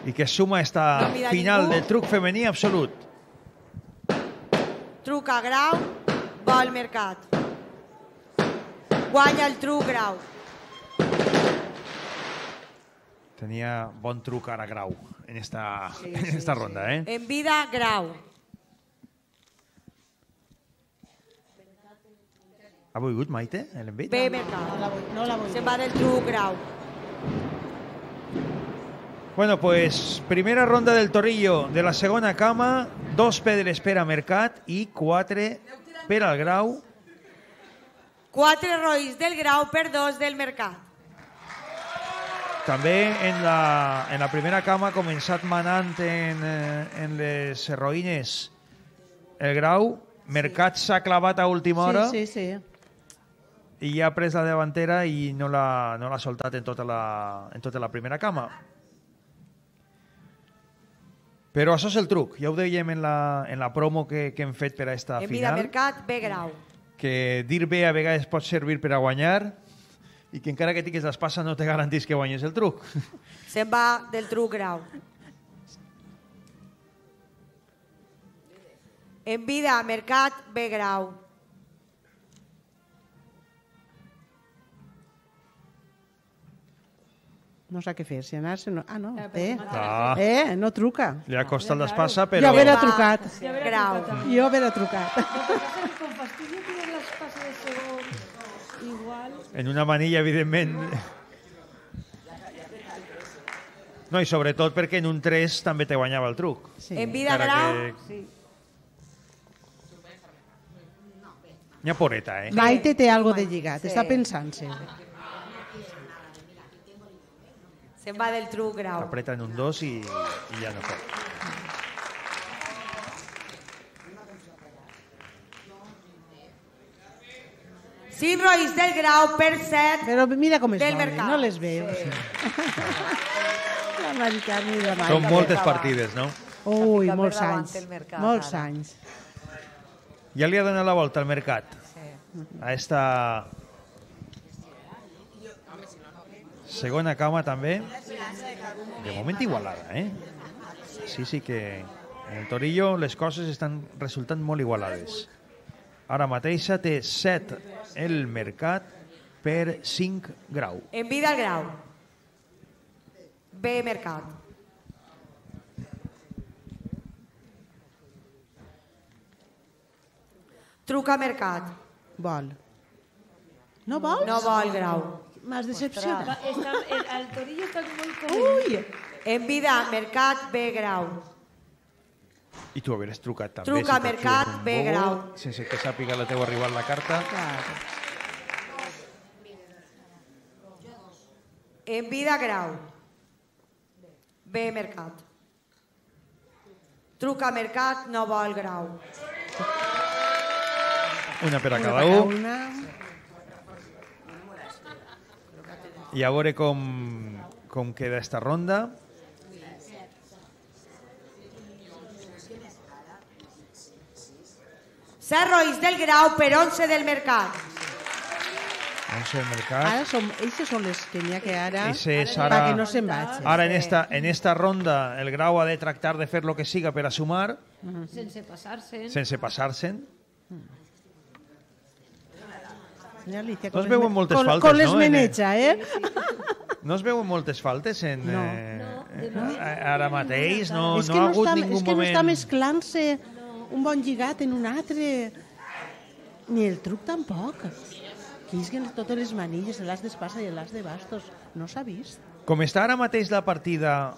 i que suma esta No mira final ningú. del truc femení absolut. Truca Grau, vol Mercat. Guanya el truc Grau. Tenia bon truc ara Grau en esta, en esta ronda, eh? En vida, Grau. Ha volgut, Maite, l'envit? B Mercat. No la vull, no la vull. Se'n va del truc Grau. Bueno, pues primera ronda del Torillo de la segona cama, dos pedres per a Mercat i quatre per al Grau. Quatre roïs del Grau per dos del Mercat. També en la, en la primera cama ha començat manant en, eh, en les heroïnes el Grau. Mercat s'ha clavat a última hora Sí, sí, sí. i ja ha pres la davantera i no l'ha no l'ha soltat en tota la, en tota la primera cama. Però això és el truc. Ja ho dèiem en la, en la promo que, que hem fet per a esta En vida, final, Mercat, B Grau. que dir bé a vegades pot servir per a guanyar i que encara que tinguis l'espasa no te garantís que guanyes el truc. Se'n va del truc Grau. En vida, Mercat, B Grau. No sap què fer, si anar-se... Ah, no, té. Ah. Eh, no truca. Li ha costat l'espasa, però... Jo haver trucat. Grau. Jo haver trucat. Con fastidio que l'espasa de segon, igual... En una manilla, evidentment... No, i sobretot perquè en un tres també te guanyava el truc. En vida grau... Que... N'hi ha poreta, eh? Maite té algo de lligat, està pensant-se. Se'n va del truc grau. Apreta en un dos i, i ja no pot. cinc roïs del grau per set Però mira com es del volen, mercat. no les veus. La Maricarme i la Maite. Són moltes partides, no? Ui, Ficar molts per davant anys. el mercat, Molts ara. anys. Ja li ha donat la volta al mercat. A esta segona cama també. De moment igualada, eh? Sí, sí que en el Torillo les coses estan resultant molt igualades. Ara mateixa té set el mercat per cinc grau. En vida al grau. B mercat. Truca mercat. Vol. No vols? No vol grau. M'has decepcionat. Està, el, el Torillo està molt com... Ui! En vida mercat B grau. I tu haveres trucat també. Truca si t'has mercat, jugat un B bobo, grau. Sense que sàpiga la teua arribat la carta. En vida grau. B mercat. Truca mercat, no vol grau. Una per a Una cada per cada un. una. I a veure com, com queda esta ronda. set roïs del grau per onze del mercat. onze del mercat. Ara som, eixes són les que n'hi ha que ara... Ese és Per ara, que no se'n vagi. ara en, esta, en esta ronda el grau ha de tractar de fer lo que siga per a sumar, Sense passar-se. sense passar-se'n. Ja li dic, No es con les veuen me- moltes con- faltes, con les no? En- meneja, eh? No es veuen moltes faltes en, No. eh, eh, ara mateix, no, és no que ha no hagut està, ningú és que no moment... està mesclant-se un bon lligat en un altre. Ni el truc tampoc. Quisquen totes les manilles, l'as d'espasa i l'as de bastos. No s'ha vist. Com està ara mateix la partida,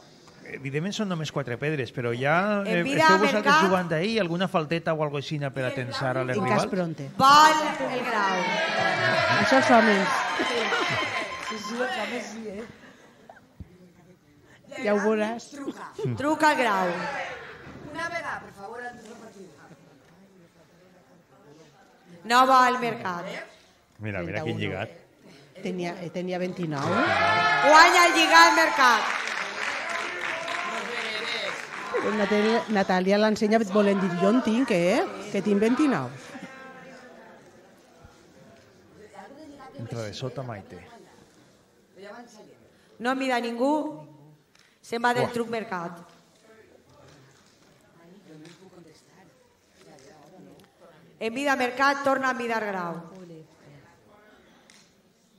evidentment són només quatre pedres, però ja eh, En vida esteu vosaltres mercat. jugant ahir alguna falteta o alguna cosa per a tensar a les En cas rivals? pronte. Vol el grau. Això els homes. Sí, sí, els homes sí, eh? Ja ho veuràs. Truca al grau. Una vegada, per favor, antes de la partida. No vol el mercat. Mira, mira quin lligat. Tenia, eh, tenia vint-i-nou. Guanya el lligat mercat. Però Natàlia, Natàlia l'ensenya volent dir, jo en tinc, eh? Que tinc vint-i-nou. Entra de sota Maite. No mira ningú. Se'n va del Buah. truc mercat. En vida mercat, torna a mirar grau.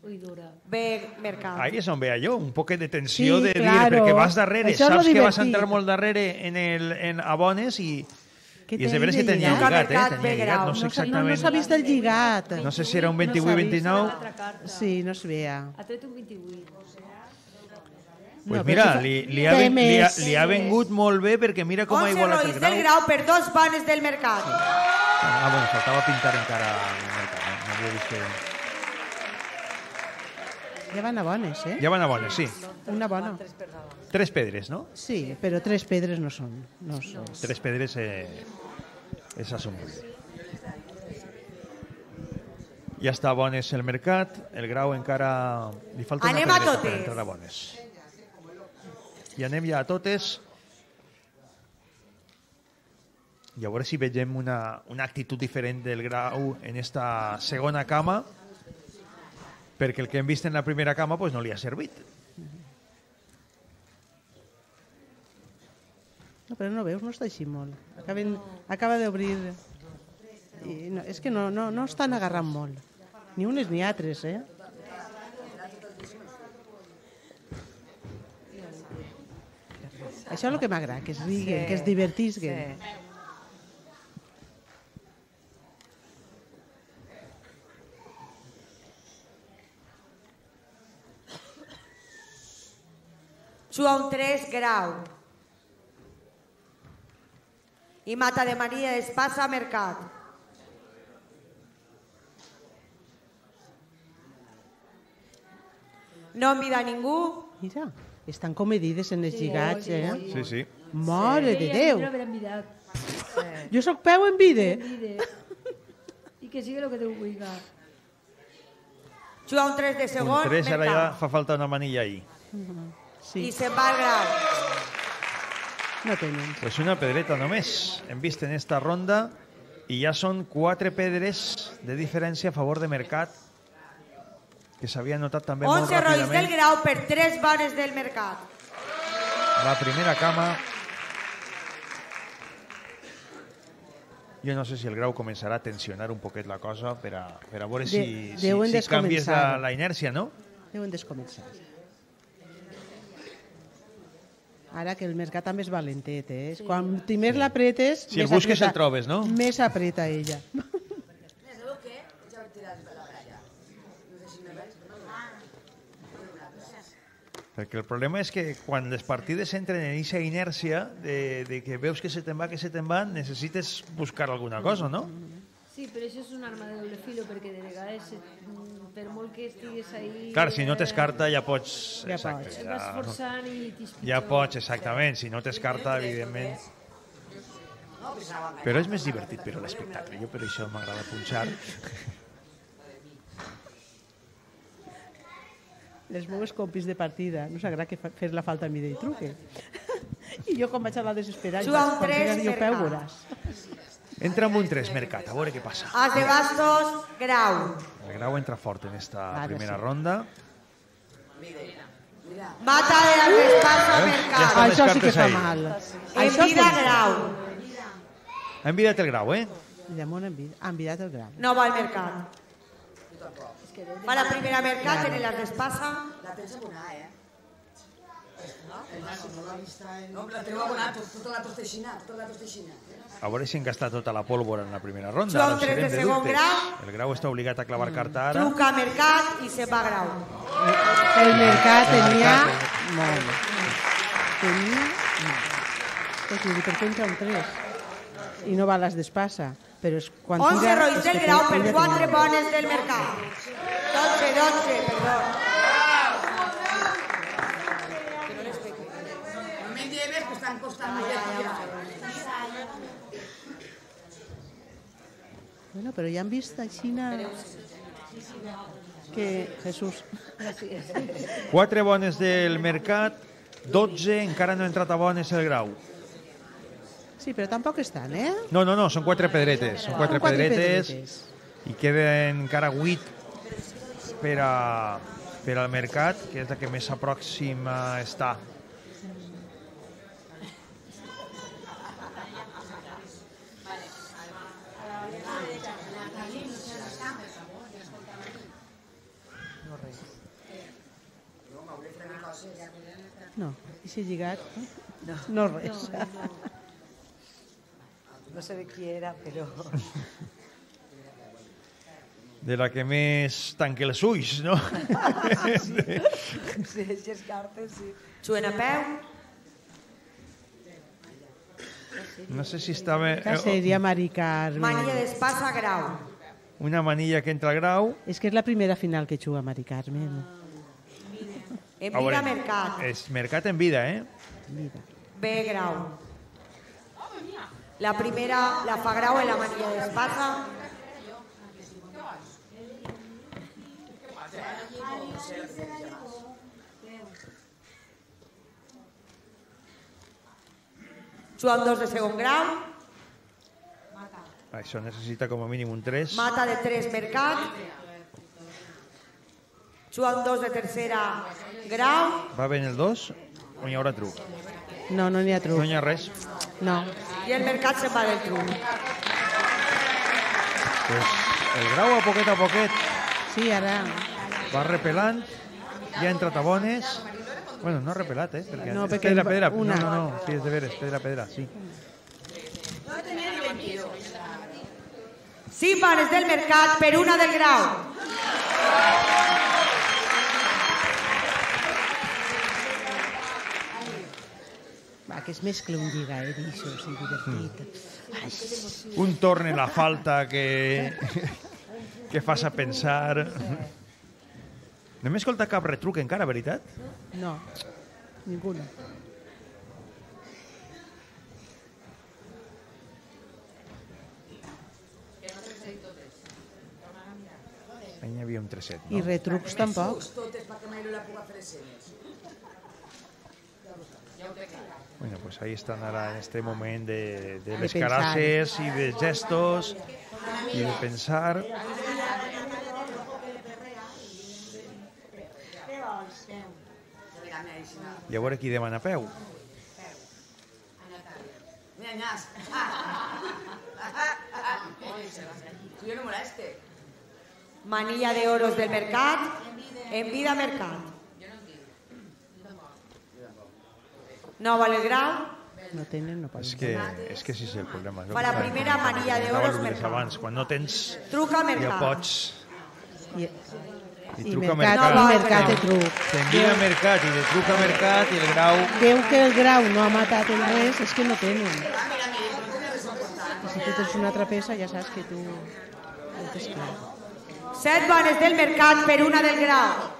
Ui, dura. Ve mercat. Ahí és on ve allò, un poquet de tensió Sí, de dir, claro. perquè vas darrere, Això és lo saps que vas divertit. entrar molt darrere en, el, en abones i, Què i és de té veres que de tenia lligat? lligat, eh? Mercat, Tenia ve lligat, grau. no sé No s'ha- no, no exactament... s'ha vist el lligat. No sé si era un No s'ha vint-i-vuit vist. vint-i-nou. L'altra carta. Sí, no es veia. Ha tret un vint-i-vuit. Pues No, mira, però si fa- li, li, ha té ven, li, ha, més. li ha vengut molt bé perquè mira com ha onze igualat el roïs grau. del grau per dos bones del mercat. Ah, bueno, faltava pintar encara el mercat, no? No havia vist que... Ja van a bones, eh? Ja van a bones, sí. Una bona. Tres pedres, no? Sí, però tres pedres no són. No són. Tres pedres eh, és assumible. Ja està a bones el mercat, el grau encara... Li falta una Anem a pedreta per totes. entrar a bones. I anem ja a totes. I a veure si vegem una, una actitud diferent del grau en esta segona cama, perquè el que hem vist en la primera cama pues, no li ha servit. No, però no veus, no està així molt. Acaben, acaba d'obrir... I no, és que no, no, no estan agarrant molt. Ni unes ni altres, eh? Això és el que m'agrada, que es riguen, que es divertisguen. Joan tres, Grau. I Mata de Maria d'Espasa, Mercat. No em vida ningú. Mira, estan comedides en els lligats, eh? Sí, sí. Mare de Déu. No haver envidat. Jo soc peu en vide. I que sigui el que Déu vulgui. Joan tres de segon, Un tres, ara ja Mercat. fa falta una manilla ahí. I se'n va al Grau. No tenen. Pues una pedreta només hem vist en esta ronda i ja són quatre pedres de diferència a favor de Mercat, que s'havia notat també molt onze rois del ràpidament. Grau per tres bones del Mercat. La primera cama. Jo no sé si el Grau començarà a tensionar un poquet la cosa per a, per a veure si, De- si, deuen si canvies la, descomençar. la inèrcia, no? Deuen descomençar. Ara que el Mercat també és valentet, eh? Sí. Quan més sí. l'apretes... Si el més busques apreta- el trobes, no? Més apreta ella. Perquè el problema és que quan les partides entren en aquesta inèrcia de, de que veus que se te'n va, que se te'n va, necessites buscar alguna cosa, no? Sí, però això és un arma de doble filo, perquè de vegades, mm, per molt que estigues ahí... Clar, si no t'escarta ja pots... Ja exacte, pots. Et vas forçant i t'hi Ja pots, exactament. Si no t'escarta, evidentment... Però és més divertit per a l'espectacle. Jo per això m'agrada punxar. Les meves compis de partida no s'agrada que fa- fer la falta a mi de truque. I jo com vaig a la desesperada, Joan quan tres, tingues jo peu Mercat. veuràs. Entra amb un tres, Mercat, a veure què passa. As de bastos, Grau. El Grau entra fort en esta Ara primera sí. ronda. Mata de las Espasa, Veus? Mercat. Ja estan les Això sí que cartes fa ahí. mal. En Això vida, sí. Grau. Ha envidat el Grau, eh? Llamón ha envi- ha enviat el Grau. No va al Mercat. Va la primera Mercat en las de Espasa. La tens abonada, eh? No, la teniu abonada, tota la tosteixina, tota la tosteixina. A veure si han gastat tota la pólvora en la primera ronda. Joan Ara ho tres serem de de segon dubtes. grau. El Grau està obligat a clavar carta ara. Truca Mercat i se'n va a Grau. El Mercat El tenia... Mercat. Molt bé. Tenia... Pues vull dir, per què entra un tres? I no va a les d'Espasa. Però és quan onze tira... rois és del que Grau ella per tenia- quatre bones del Mercat. dotze, dotze, perdó. No me lleves, que estan costant molt de Bueno, però ja han vist a Xina... Que Jesús... Quatre bones del Mercat, dotze, encara no ha entrat a bones el Grau. Sí, però tampoc estan, eh? No, no, no, són quatre pedretes. Són quatre, Són quatre pedretes, pedretes. i queden encara vuit per, a, per al Mercat, que és la que més a pròxima està. No, i si lligat... No, no res. No sé de qui era, però... De la que més tanque els ulls, no? Sí, sí, aquestes cartes, sí. Juguen a peu. No sé si estava... Que seria Mari Carmen. Mania d'Espasa, Grau. Una manilla que entra al Grau. És que és la primera final que juga Mari Carmen. En A vida, veure, Mercat. És Mercat en vida, eh? Mira. B, Grau. La primera la fa Grau en la manilla d'Espasa. Joan dos de segon grau. Això necessita com a mínim un tres. Mata de tres, Mercat. Joan dos de tercera grau. Va ben el dos o hi haurà truc? No, no n'hi ha truc. No hi ha res? No. I el Mercat se'n va del truc. Pues el Grau a poquet a poquet Sí, ara... va repelant, ja ha entrat a bones. Bueno, no repelat, eh? Perquè No, és perquè pedra, pedra. una. No, no, no, sí, és de veres, pedra, pedra, sí. Cinc panes del mercat per una del Grau. Va, que es mescla un lliga, eh, d'això, sí, divertit. Ai, Un torn en la falta que, que fas a pensar. No m'he escoltat cap retruc encara, veritat? no, ninguna. Ahí n'hi havia un treset, I no? retrucs tampoc. Totes perquè mai no la puc fer escenes. Bueno, pues ahí están ahora en este moment de, de De les pensar. caraces y de gestos y de pensar. I a veure qui demana peu. Mira, Ñas. Tu jo no moleste. Manilla de oros del mercat, en vida mercat. No val el Grau. No tenen, no poden. És que, és que sí és el problema. Fa la primera manilla d'oros mercat. mercat. Abans, quan no tens... Truca al Ja mercat. pots... I, I i truca mercat, mercat. i mercat de truc. T'envia mercat i de truca mercat i el Grau... Veu que el Grau no ha matat el res, és que no tenen. I si tu tens una altra peça, ja saps que tu ho tens clar. Set panes del mercat per una del Grau.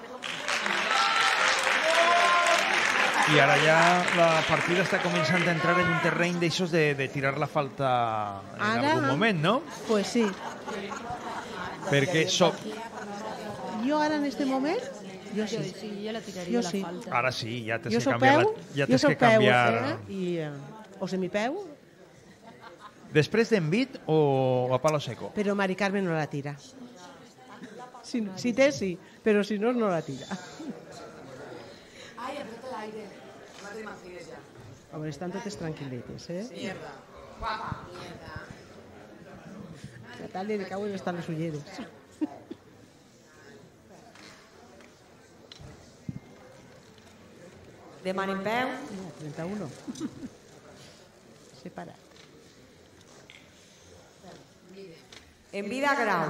I ara ja la partida està començant a entrar en un terreny d'aixòs de, de tirar la falta en Ara? algun moment, no? Pues sí. Perquè soc... Jo ara en este moment, jo sí. Jo sí, jo la tiraria Jo la sí. falta. Ara sí, ja tens Jo que soc canviar... peu, La... Ja jo tens soc que peu canviar... eh, i, eh, o semipeu, Després d'envit o a palo seco? però Mari Carmen no la tira. Si, si té, sí, però si no, no la tira. Ai, apreta l'aire. No te m'imagines ja. A veure, estan totes tranquil·lites, eh? Mierda. Guapa. Mierda. Natàlia li cauen estan les ulleres. Demanen peu. No, trenta-u. Separat. En vida Grau.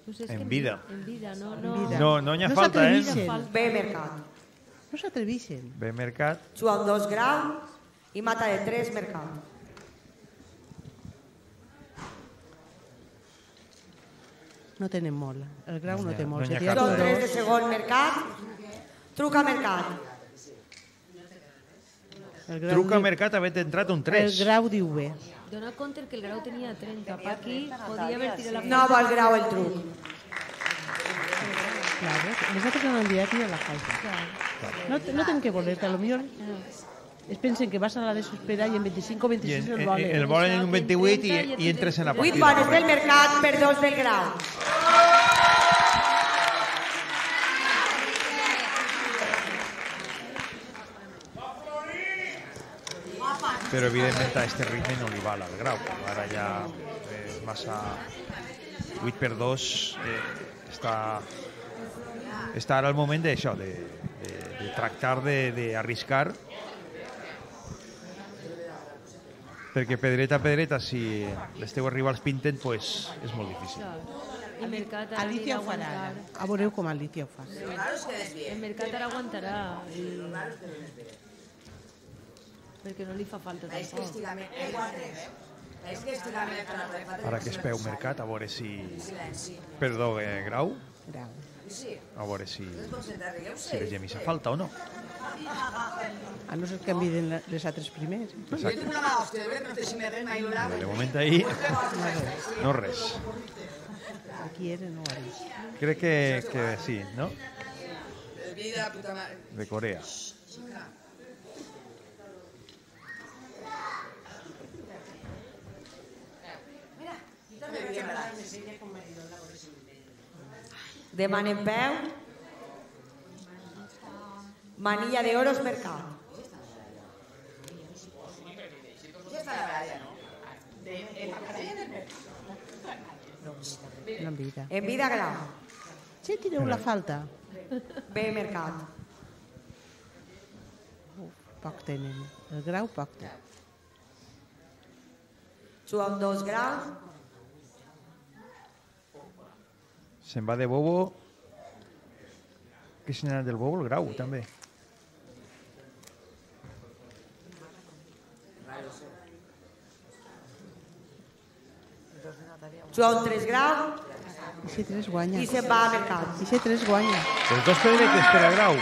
Pues és En que vida. En vida, no, no. En vida. No, no n'hi ha No falta, eh? s'atrevixen. B mercat. No s'atrevixen. Bé, mercat. Joan dos Grau i mata de tres mercat. No tenen molt. El Grau no No té n'hi ha- molt. no n'hi ha Seria cap. Són tot tres de dos. segon mercat. Truca mercat. El Grau Truca diu- mercat havent entrat un El tres. Grau diu bé. Dona compte que el Grau tenia trenta. Pa aquí podia haver tirat la falta. No val Grau el truc. Claro, les altres no han enviat ni a la falta. No, te- no tenen que voler-te, a lo millor es pensen que vas a la desesperada i en veinticinc o I veintiséis en, el en, volen. el volen en un vint-i-vuit i, i entres en la Vuit partida. panes del mercat per dos del Grau. Però evidentment a este ritme no li val al Grau. Ara ja és massa... vuit per dos eh, està... Està ara el moment d'això, de, de, de tractar d'arriscar. Perquè pedreta a pedreta, si les teus rivals pinten, pues, és molt difícil. El mercat ara Alicia anirà ho farà. aguantar. ara. A veureu com Alicia ho fa. El mercat ara aguantarà. I... Perquè no li fa falta És que tampoc. estigament. És que estigament. Ara que es peu mercat, a veure si... Silenci. Perdó, eh, Grau, Grau. Sí. a veure si, Concentrar, si rigueu-se. les gemisa falta o no. A no ser que enviden la- les altres primers. Jo tinc una mà hòstia, de veritat que no té si me res mai l'hora. De moment ahí, no res. Aquí era, no ara. Crec que, que sí, no? El vídeo de la puta mare. De Corea. Demanen peu. Manilla de oros mercat. Ja està la baralla, no? No en vida. En vida Grau. Sí, tireu la falta. B mercat. Poc tenen. El grau poc té. Joan dos grau. Se'n va de bobo. Que se n'ha anat del bobo? El grau, també. Joan tres grau. I si tres guanya. I se'n va a mercat. I si tres guanya. Els dos pedretes per al grau.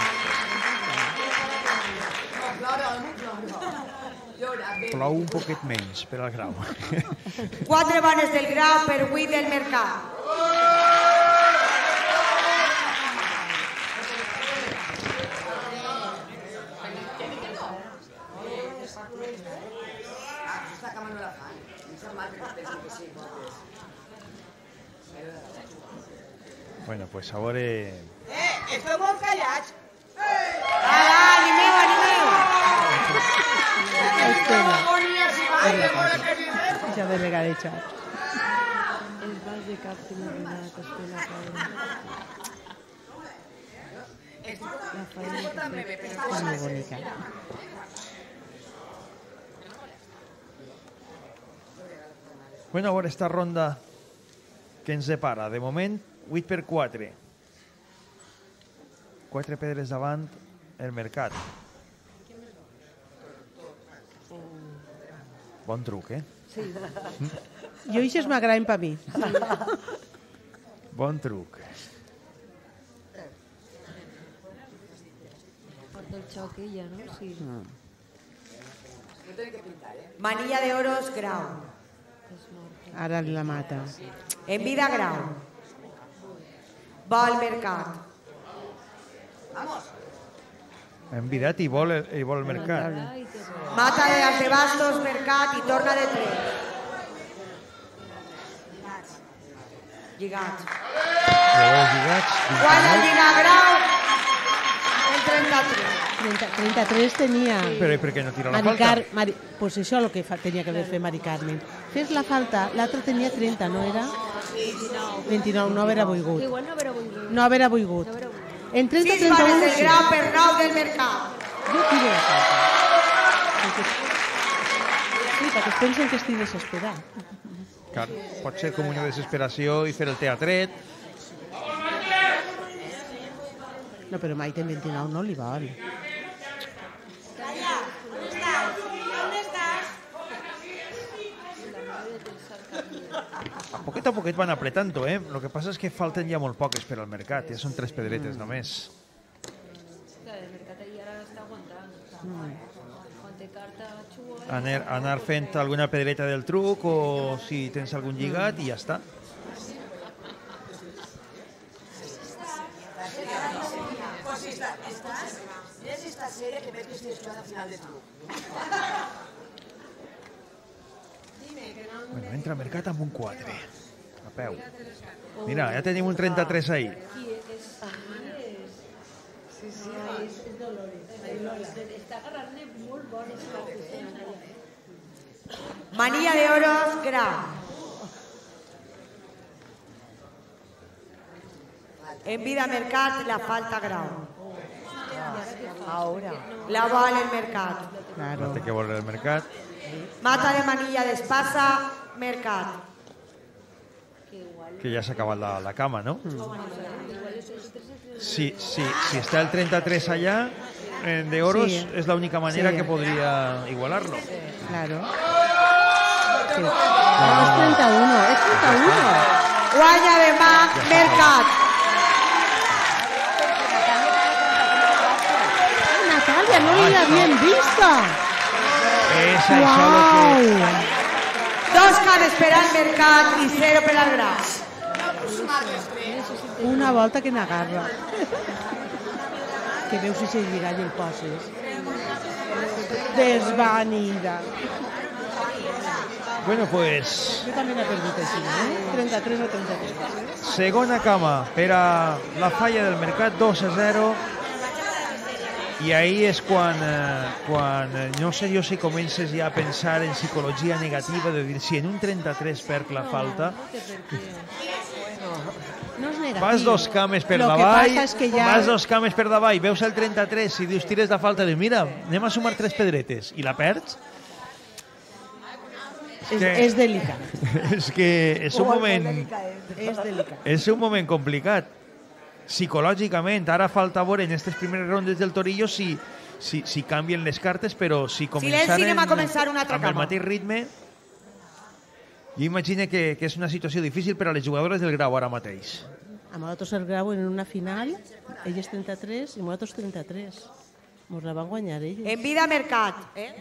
Plou un poquet menys per al grau. Quatre bones del grau per vuit del mercat. Bueno, pues a veure... Eh, esteu molt callats. Ala, animeu, animeu. Ja de regadejar. El vas de cap que m'ha donat, Estela, pobra. La faena que té. És molt bonica. Bueno, a veure esta ronda que ens separa. De moment, vuit per quatre. Quatre pedres davant el mercat. Bon truc, eh? Sí. Jo ixes m'agraden per mi. Bon truc. Porta el xoc ella, no? Sí. Manilla de oros, grau. Ara la mata. En vida, grau. Va al mercat. Envidat i vol, i vol el mercat. Mata de las de bastos, mercat i torna de tres. Lligats. Llavors lligats. Guanya el lligat grau. El trenta-tres. trenta-tres tenia... Però per què no tira la Mari falta? Car... Mari... Pues això és el que fa... tenia que haver fet Mari Carmen. Fes la falta, l'altre tenia trenta, no era? vint-i-nou, no haver volgut. Igual no haver volgut. No haver volgut. En trenta, Sis trenta-u... bones del grau per nou del mercat. Jo tiro la falta. Perquè... Sí, perquè es pensen que estic desesperat. Clar, pot ser com una desesperació i fer el teatret. No, però mai ten vint-i-nou, no li val. A poquet a poquet van apretando, eh? Lo que passa és que falten ja molt poques per al mercat. Ja són tres pedretes només. Clar, el mercat ahí ara està aguantant. Quan té carta xua... Anar, anar fent alguna pedreta del truc o si tens algun lligat i ja està. Pues esta, estás, es esta serie que ves que estoy jugando al final de truco. Bueno, entra al mercat amb un quatre. A peu. Mira, ja tenim un trenta-tres ahí. Qui és? Sí, sí, és Dolores. Està agarrant-ne molt bones cartes. Manilla de oros, grau. En vida mercat, la falta grau. Ahora. La val el mercat. No té que veure el mercat. Mata de manilla d'espasa, mercat. Que ja s'ha acabat la, la cama, no? Si, si, si està el trenta-tres allà, eh, de oros, Sí. és l'única manera Sí. que podria igualar-lo. Claro. Sí. No, és trenta-uno, és trenta-uno. Guanya de mà, mercat. Natalia, no la habían visto. És això lo que... Wow. Dos cares per al mercat i zero per al grau. Una volta que n'agarra. Que veus si se lliga i el poses. Desvanida. Bueno, pues... Jo també n'he perdut així, eh? trenta-tres o trenta-tres. Segona cama per a la falla del mercat, dos a zero. I ahí és quan, eh, quan eh, no sé jo si comences ja a pensar en psicologia negativa, de dir, si en un trenta-tres perc la falta... No és negatiu. Vas dos cames per Lo que davall, passa és que ja- vas dos cames per davall, veus el trenta-tres i dius tires de falta, dius mira, anem a sumar tres pedretes i la perds. És, que- és delicat. És que és un moment... És delicat. És un moment complicat. Psicològicament, ara falta veure en aquestes primeres rondes del Torillo si, si, si canvien les cartes, però si començaren anem a començar una altra amb el cama. mateix ritme, jo imagino que, que és una situació difícil per a les jugadores del Grau ara mateix. A nosaltres el Grau en una final, elles trenta-tres i nosaltres trenta-tres. Ens la van guanyar elles. En vida mercat. Eh?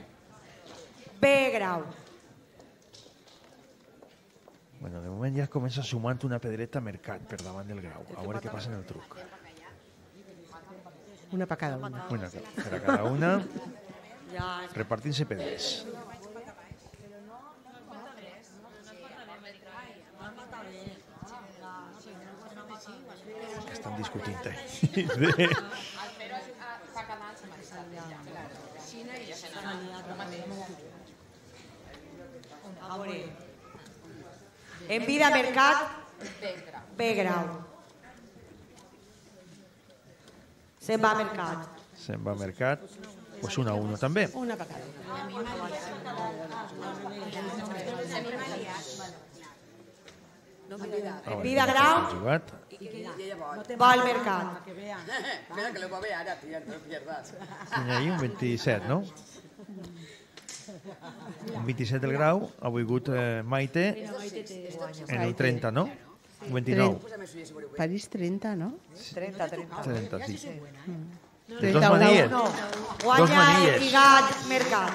B Grau. Bueno, de moment ja comença sumant una pedreta mercat per davant del Grau. A veure què passa en el truc. Una per cada una. Una per a cada una, Ja. repartint-se pedres. Que estan discutint ahí. A veure. En vida mercat, B Grau. Se'n va a mercat. Se'n va a mercat. Pues una a uno també. Una per cada una. En vida Grau, Jugat. va al mercat. Mira que lo va a ver ahora, tía, no pierdas. Tinc ahí un vint-i-set, no? Un vint-i-set del Grau, ha volgut eh, Maite en el trenta, no? Un vint-i-nou. París trenta, no? trenta, trenta. trenta, sí. Mm. De dos manies. No. Dos Guanya el manies. lligat mercat.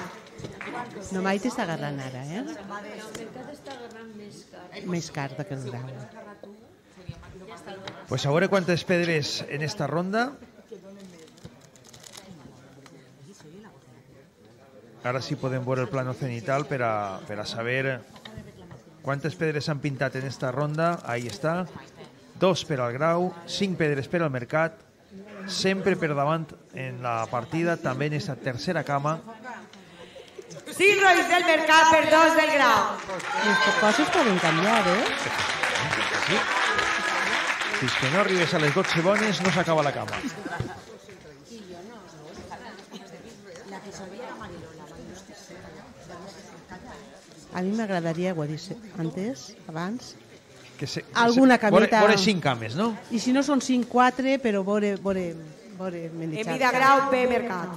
No, Maite està agarrant ara, eh? El mercat està agarrant més car. Més carta que el Grau. Pues a veure quantes pedres en esta ronda. Ara sí podem veure el plano cenital per a, per a saber quantes pedres s'han pintat en esta ronda. Ahí està. Dos per al Grau, cinc pedres per al mercat, sempre per davant en la partida, també en esta tercera cama. cinc rolls del mercat per dos del Grau. Les coses poden canviar, eh? Sí. Fins que no arribes a les dotze bones no s'acaba la cama. A mi m'agradaria, ho he dit antes, abans, Que se, alguna que se, vore, cameta... vore cinc cames, no? I si no són cinc, quatre, però vore, vore, vore En menjar. vida Grau, B mercat.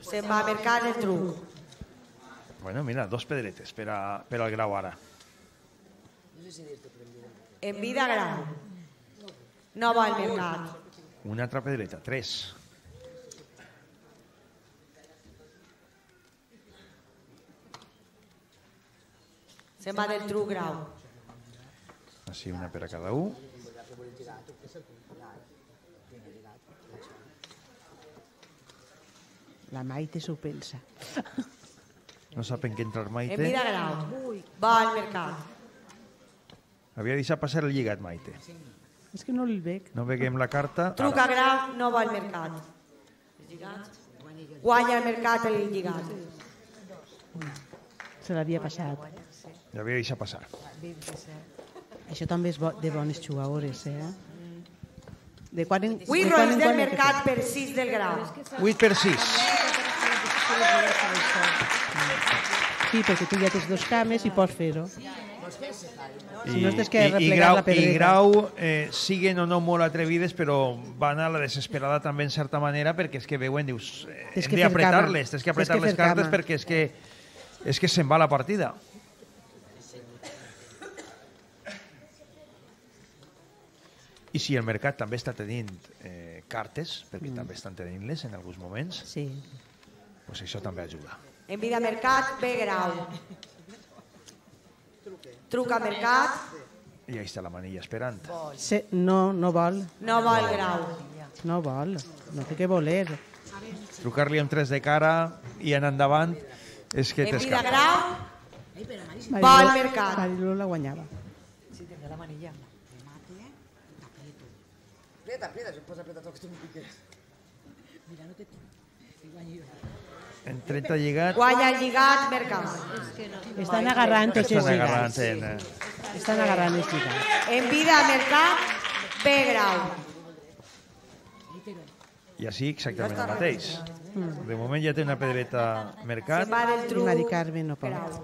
Se'n va a mercat el truc. Bueno, mira, dos pedretes per, a, per al Grau ara. En vida Grau. No va al mercat. Una altra pedreta, tres. Se'n va del truc Grau. Així una per a cada un. La Maite s'ho pensa. No sap en què entrar En Maite. vida Grau. Va al mercat. Havia deixat passar el lligat, Maite. És que no el veig. No veiem la carta. Truc a Grau, no va al mercat. Guanya el mercat el lligat. Se l'havia passat. L'havia deixat passar. Això també és bo, de bones jugadores, eh? De quan en, vuit de quan rolls en del quan mercat per sis del Grau. vuit per sis. Sí, perquè tu ja tens dos cames i pots fer-ho. Si no, tens que i, i, replegar grau, la pedreta. I Grau eh, siguen o no molt atrevides, però van a la desesperada també en certa manera, perquè és que veuen, dius, eh, Tens hem que fer d'apretar-les, cama. tens que Tens apretar que les fer cartes cama. perquè és que, és que se'n va la partida. I si el mercat també està tenint eh, cartes, perquè mm. també estan tenint-les en alguns moments, sí. pues això també ajuda. En vida mercat, B Grau. Truc a mercat, I ahí està la manilla esperant. Se, no, no vol. no va al Grau. No vol. No té que voler. Trucar-li amb tres de cara i anar endavant és que En vida t'escapa. Grau, va al mercat. Mariló la guanyava. Sí, tendrá la manilla. Aprieta, aprieta, se puede apretar todo que tú me piques. Mira, no te... En trenta lligats... Guanya el lligat, Mercat. Estan agarrant tots els Estan lligats. agarrant, eh? Estan agarrant els lligats. En vida, Mercat, B grau. I així exactament el mateix. De moment ja té una pedreta Mercat. I Mari Carmen no pot.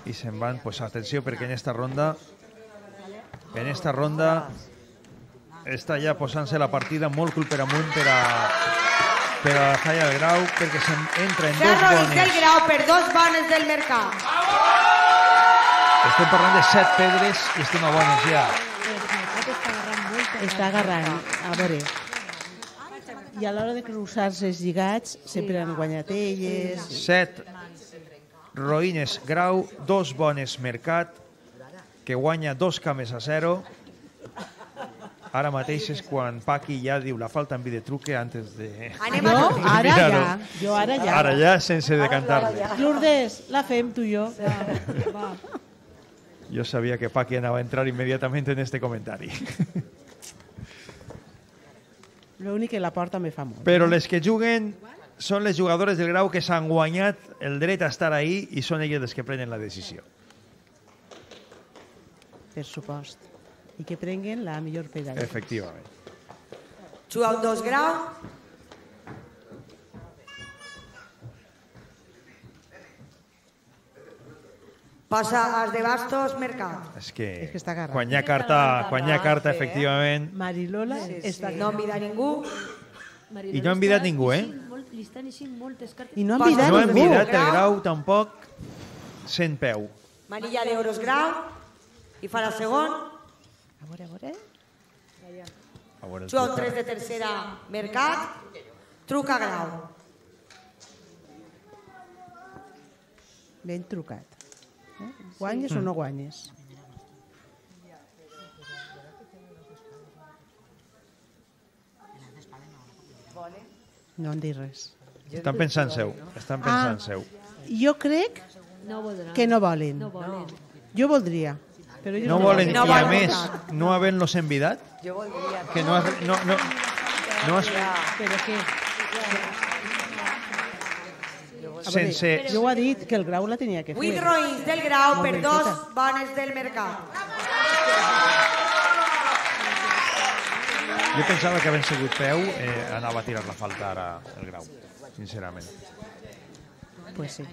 I se'n van, pues atenció, perquè en esta ronda en esta ronda està ja posant-se la partida molt cul per amunt per a per a la falla del Grau, perquè s'entra en dos Ferro i del bones. Grau per dos bones del Mercat. Estem parlant de set pedres i estem a bones ja. Està agarrant, a veure. I a l'hora de cruzar-se els lligats sempre han guanyat elles. Set roïnes Grau, dos bones Mercat, que guanya dos cames a zero. Ara mateix és quan Paqui ja diu la falta en vi de truque antes de... No, ara ja. Jo ara ja. Ara ja, sense decantar-le. Lourdes, la fem tu i jo. Jo sabia que Paqui anava a entrar immediatament en este comentari. L'únic que la porta me fa molt. Però les que juguen són les jugadores del Grau que s'han guanyat el dret a estar ahí i són elles les que prenen la decisió. Per supost. I que prenguen la millor pedalla. Efectivament. Juga un dos grau. Passa als de bastos, Mercat. És que, És que està agarrat. quan hi ha carta, quan hi ha carta, efectivament... Marilola està... No envida ningú. I no ha envidat ningú, eh? Li estan eixint moltes cartes. I no ha envidat No ha ningú. envidat el Grau tampoc sent peu. Manilla d'euros grau. I fa la segon. A veure, a veure. A veure, Juga un tres de tercera, Mercat. Truca grau. Ben trucat. Eh? Guanyes o no guanyes? No han dit res. Estan pensant seu. Estan pensant Ah. seu. Jo crec No voldran. que no volen. No volen. Jo voldria. Però ells No volen, i No a volen. més, no havent-los envidat, Jo voldria... que no has... No, no, no has Però què? A veure, sense... jo ho ha dit que el Grau la tenia que fer. Vuit roïns del grau Molt per ben dos feta. bones del Mercat. Jo pensava que havent sigut peu eh, anava a tirar la falta ara el Grau, sincerament. Pues sí.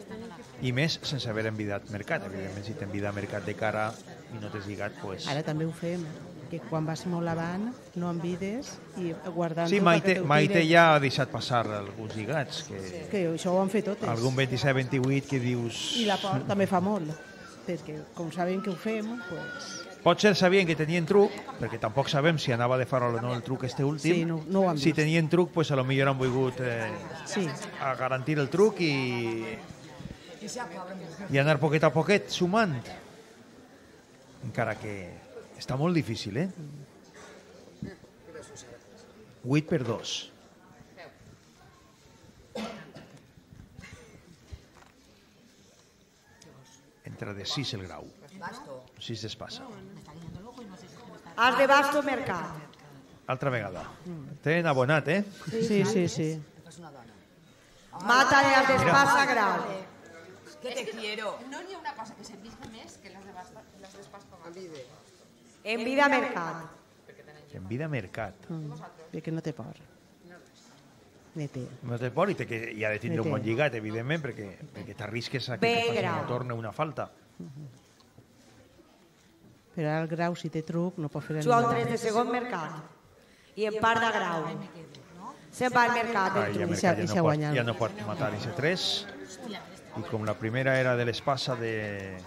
I més sense haver envidat Mercat. Evidentment, si t'envida Mercat de cara i no t'has lligat, pues... Ara també ho fem, que quan vas molt avant no envides i guardant... Sí, Maite, Maite ja ha deixat passar alguns lligats, que, Que això ho han fet totes. algun vint-i-set vint-i-vuit que dius... I la porta també fa molt, perquè com sabem que ho fem, pues... Potser sabien que tenien truc, perquè tampoc sabem si anava de farol o no el truc este últim. Sí, no, no ho han si vist. tenien truc, pues a lo millor han volgut eh, Sí. a garantir el truc i, i anar poquet a poquet sumant. Encara que està molt difícil, eh? vuit per dos. Entra de sis el Grau. sis d'espasa. As de basto, Mercat. Altra vegada. Tenen abonat, eh? Sí, sí, sí. Mata de as d'espasa, grau. Que te quiero. No n'hi ha una cosa que servisca més que les de basta, les d'espasa. En vida, Mercat. En vida Mercat. Mm. Bé que no té por. Ne té. No té por i té que, hi ha de tindre Ne un té. bon lligat, evidentment, perquè, perquè t'arrisques a que Bé, te facin grau. una torna una falta. Però ara el Grau, si té truc, no pot fer Juga un ningú. tres de segon, Mercat. I en part de grau. Se'n va al Mercat, Ah, el ja, truc. Mercat I ja, s'ha no pot, guanyat. ja no pot matar i ser tres. I com la primera era de l'espasa de,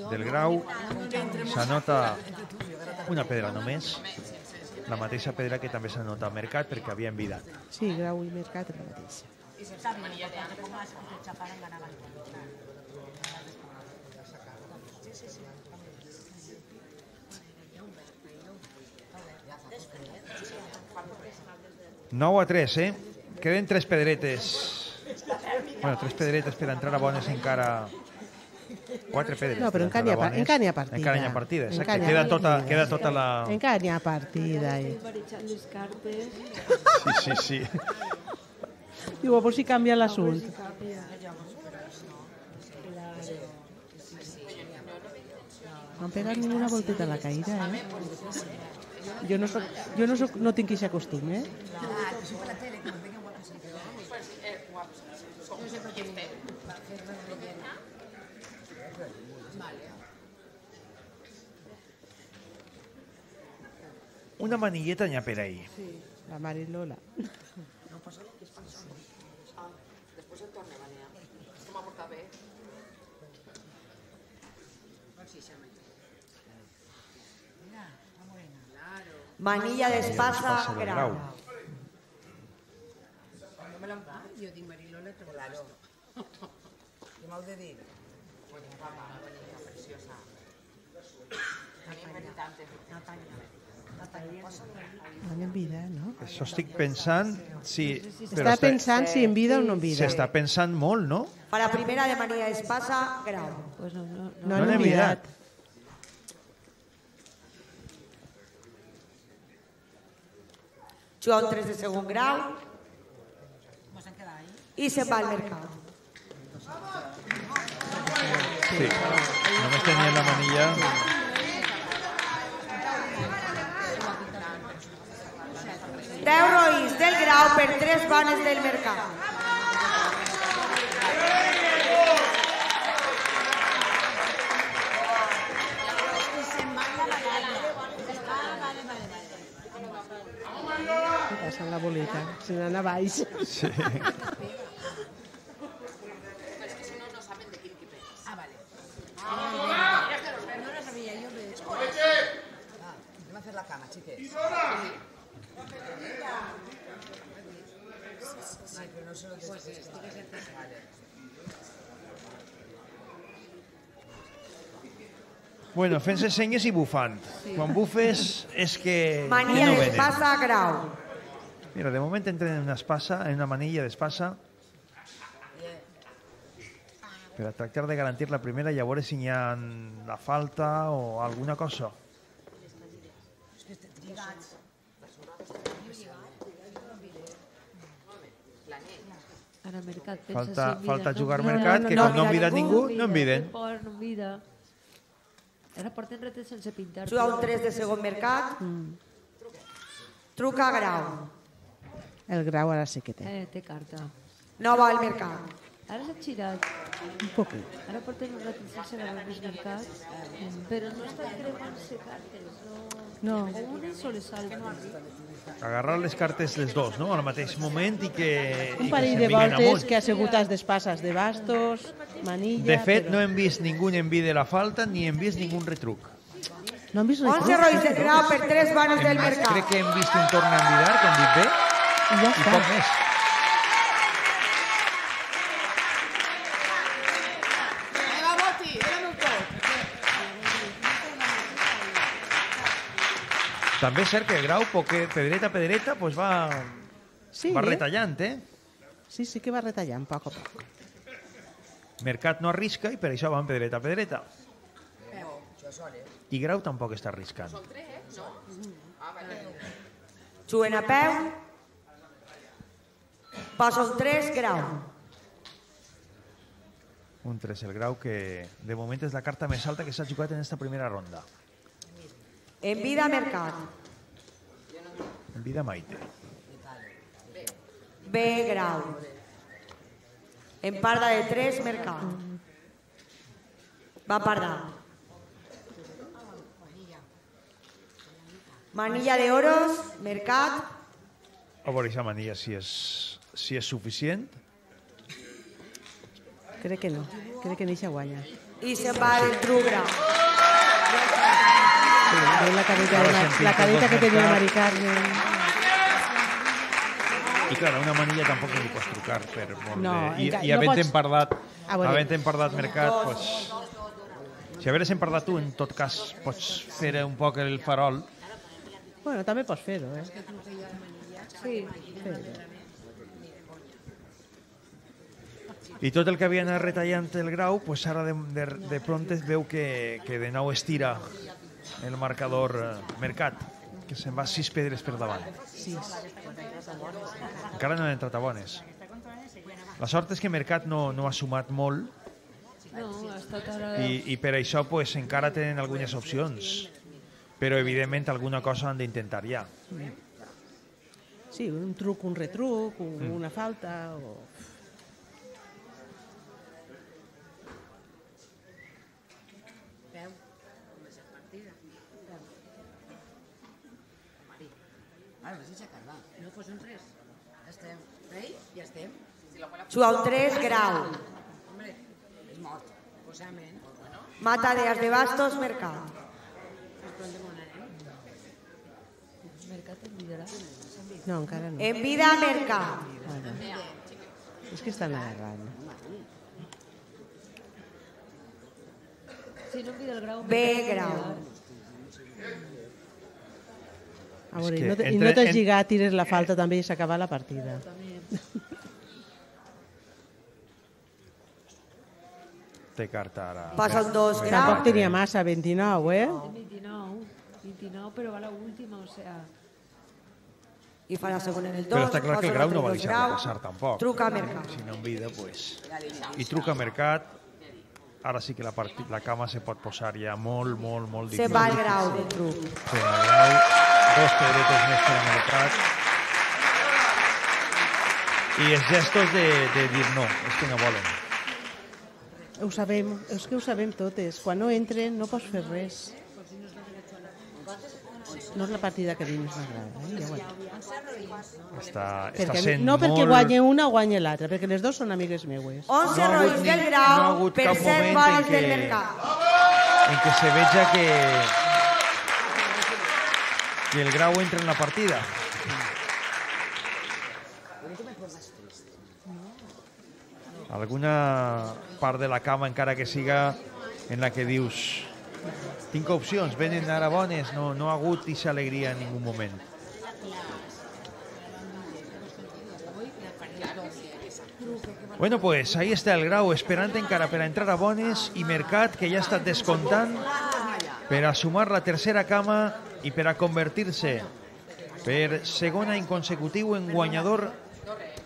del Grau, s'anota una pedra només, la mateixa pedra que també s'anota al Mercat perquè havia envidat. Sí, Grau i Mercat és la mateixa. nou a tres, eh? Queden tres pedretes. Bueno, tres pedretes per entrar a bones encara... Quatre pedres. No, però per encara n'hi ha, entrar a pa- bones. encara n'hi ha partida. Encara n'hi ha partida, exacte. Encara n'hi ha Queda tota, partida. queda tota la... Encara n'hi ha partida. Eh? Barrejant les cartes. Sí, sí, sí. Digo, a por si canvia l'assunt. No han pegat ninguna volteta a la caïra, eh? Jo no soc, jo no soc, no tinc aquest costum, eh? Una manilleta n'hi ha per ahí. Sí, la Marilola. No passa res, que es passa. Ah, després el torna a banear. És que m'ha portat bé. Mira, la morena. Claro. Manilla d'espasa grau. No me l'han dit. Jo dic Marilola, però claro. Què m'heu de dir? Bueno, guapa, bonita, preciosa. Natanya. Van en vida, no? Això estic pensant... Si, està pensant si en vida o no en vida. S'està pensant molt, no? Para primera de manilla d'espasa grau. Pues no, no, no, no n'he mirat. Juga un tres de segon grau i se'n va al mercat. Sí, només tenia la manilla... deu roïns del grau per tres bones del mercat. Què passa amb la boleta? Se n'anà a baix. Sí. Ah, vale. No lo sabía yo. Ah, me va a hacer la cama, chiques. Sí, pero no se lo pues esto que se te vale. Bueno, fent-se senyes i bufant. Sí. Quan bufes és que... Manilla no d'espasa grau. Mira, de moment entren en una espasa, en una manilla d'espasa, per a tractar de garantir la primera i a veure si hi ha la falta o alguna cosa. Ara mercat, falta, falta jugar no? mercat, no, no, que no, com no han vidat ningú, no en viden. No vida. Ara porten retes sense pintar. Juga un tres de segon mercat. Mm. Truca grau. El grau ara sí que té. Eh, té carta. No va al mercat. Ara s'ha girat. Un poquet. Ara porten un retes sense més mercat, però no estan creuant-se cartes. No. O una sola salta. Agarrar les cartes les dos, no?, al mateix moment i que... Un parell de voltes que ha sigut als despasses de bastos, manilla... De fet, no hem vist ningú en vide la falta ni hem vist ningú retruc. No hem vist retruc? onze roïns de grau per tres bones del mercat. Crec que hem vist un torn a envidar, que han dit bé, i, ja i poc més. També és cert que el grau, poque, pedreta a pedreta, pues va, sí, va retallant, eh? Sí, sí que va retallant, poc a poc. Mercat no arrisca i per això van pedreta a pedreta. I grau tampoc està arriscant. Juguen a peu. Passa un tres, grau. Un tres, el grau, que de moment és la carta més alta que s'ha jugat en esta primera ronda. En vida mercat. En vida Maite. B grau. En parda de tres mercat. Va parda. Manilla de oros, mercat. A veure aquesta manilla si és, si és suficient. Crec que no. Crec que n'hi guanya. I se'n va el tru grau. Sí, la carita, la, la carita que tenia Mari Carmen. I clar, una manilla tampoc no li pots trucar per molt no, de... I, no i havent pots... empardat, havent empardat mercat, pues, si hagueres empardat tu, en tot cas, pots fer un poc el farol. Bueno, també pots fer-ho, eh? Sí. I tot el que havia anat retallant el grau, pues ara de, de, de pront es veu que, que de nou estira el marcador eh, mercat, que se'n va sis pedres per davant. Sis. Encara no han entrat a bones. La sort és que Mercat no, no ha sumat molt No, ha estat ara... i, i per això pues, encara tenen algunes opcions. Però, evidentment, alguna cosa han d'intentar ja. Sí, un truc, un retruc, un, Mm. una falta... O... Veu, com és la partida. Mari, ara vas aixecar, va. No fos un tres. Ja estem. Rei, ja estem. Juga un tres, grau. Hombre, és mort. Posament. Mata de as de bastos, mercat. Mercat en liderar. No, encara no. En vida, mercat. Bueno, és que estan agarrant. Si no envida el grau... B, grau. A veure, que no te, i entre- no t'has en- lligat, tires la falta també i s'acaba la partida. Té carta ara. Passa un dos, grau. Tampoc tenia massa, vint-i-nou, eh? veintinou, veintinou, però va la última, o sea... I fa la segona en el dos. Però està clar que el fa grau sobre no va dos, deixar-lo grau. passar tampoc. Truca a mercat. Si no envida, pues... I truca a Mercat. Ara sí que la, partit, la cama se pot posar ja molt, molt, molt Se difícil. va el grau del truc. Sí, el grau. Dos pedretes més per a Mercat. I els gestos de, de dir no, és que no volen. Ho sabem, és que ho sabem totes. Quan no entren no pots fer res. No és la partida que a mi més m'agrada. Eh? Ja ho he- Està, està perquè, sent no perquè molt... guanye una o guanye l'altra, perquè les dues són amigues meues. onze No ha hagut roïns ni- del no ha grau hagut per cap set moment boles en del què- mercat. en què se veja que, que el grau entra en la partida. Alguna part de la cama, encara que siga en la que dius tinc opcions, venen ara bones, no, no ha hagut aquesta alegria en ningú moment. Bueno, pues ahí está el grau, esperant encara per a entrar a bones, i Mercat, que ja ha estat descomptant per a sumar la tercera cama i per a convertir-se per segon any consecutiu en guanyador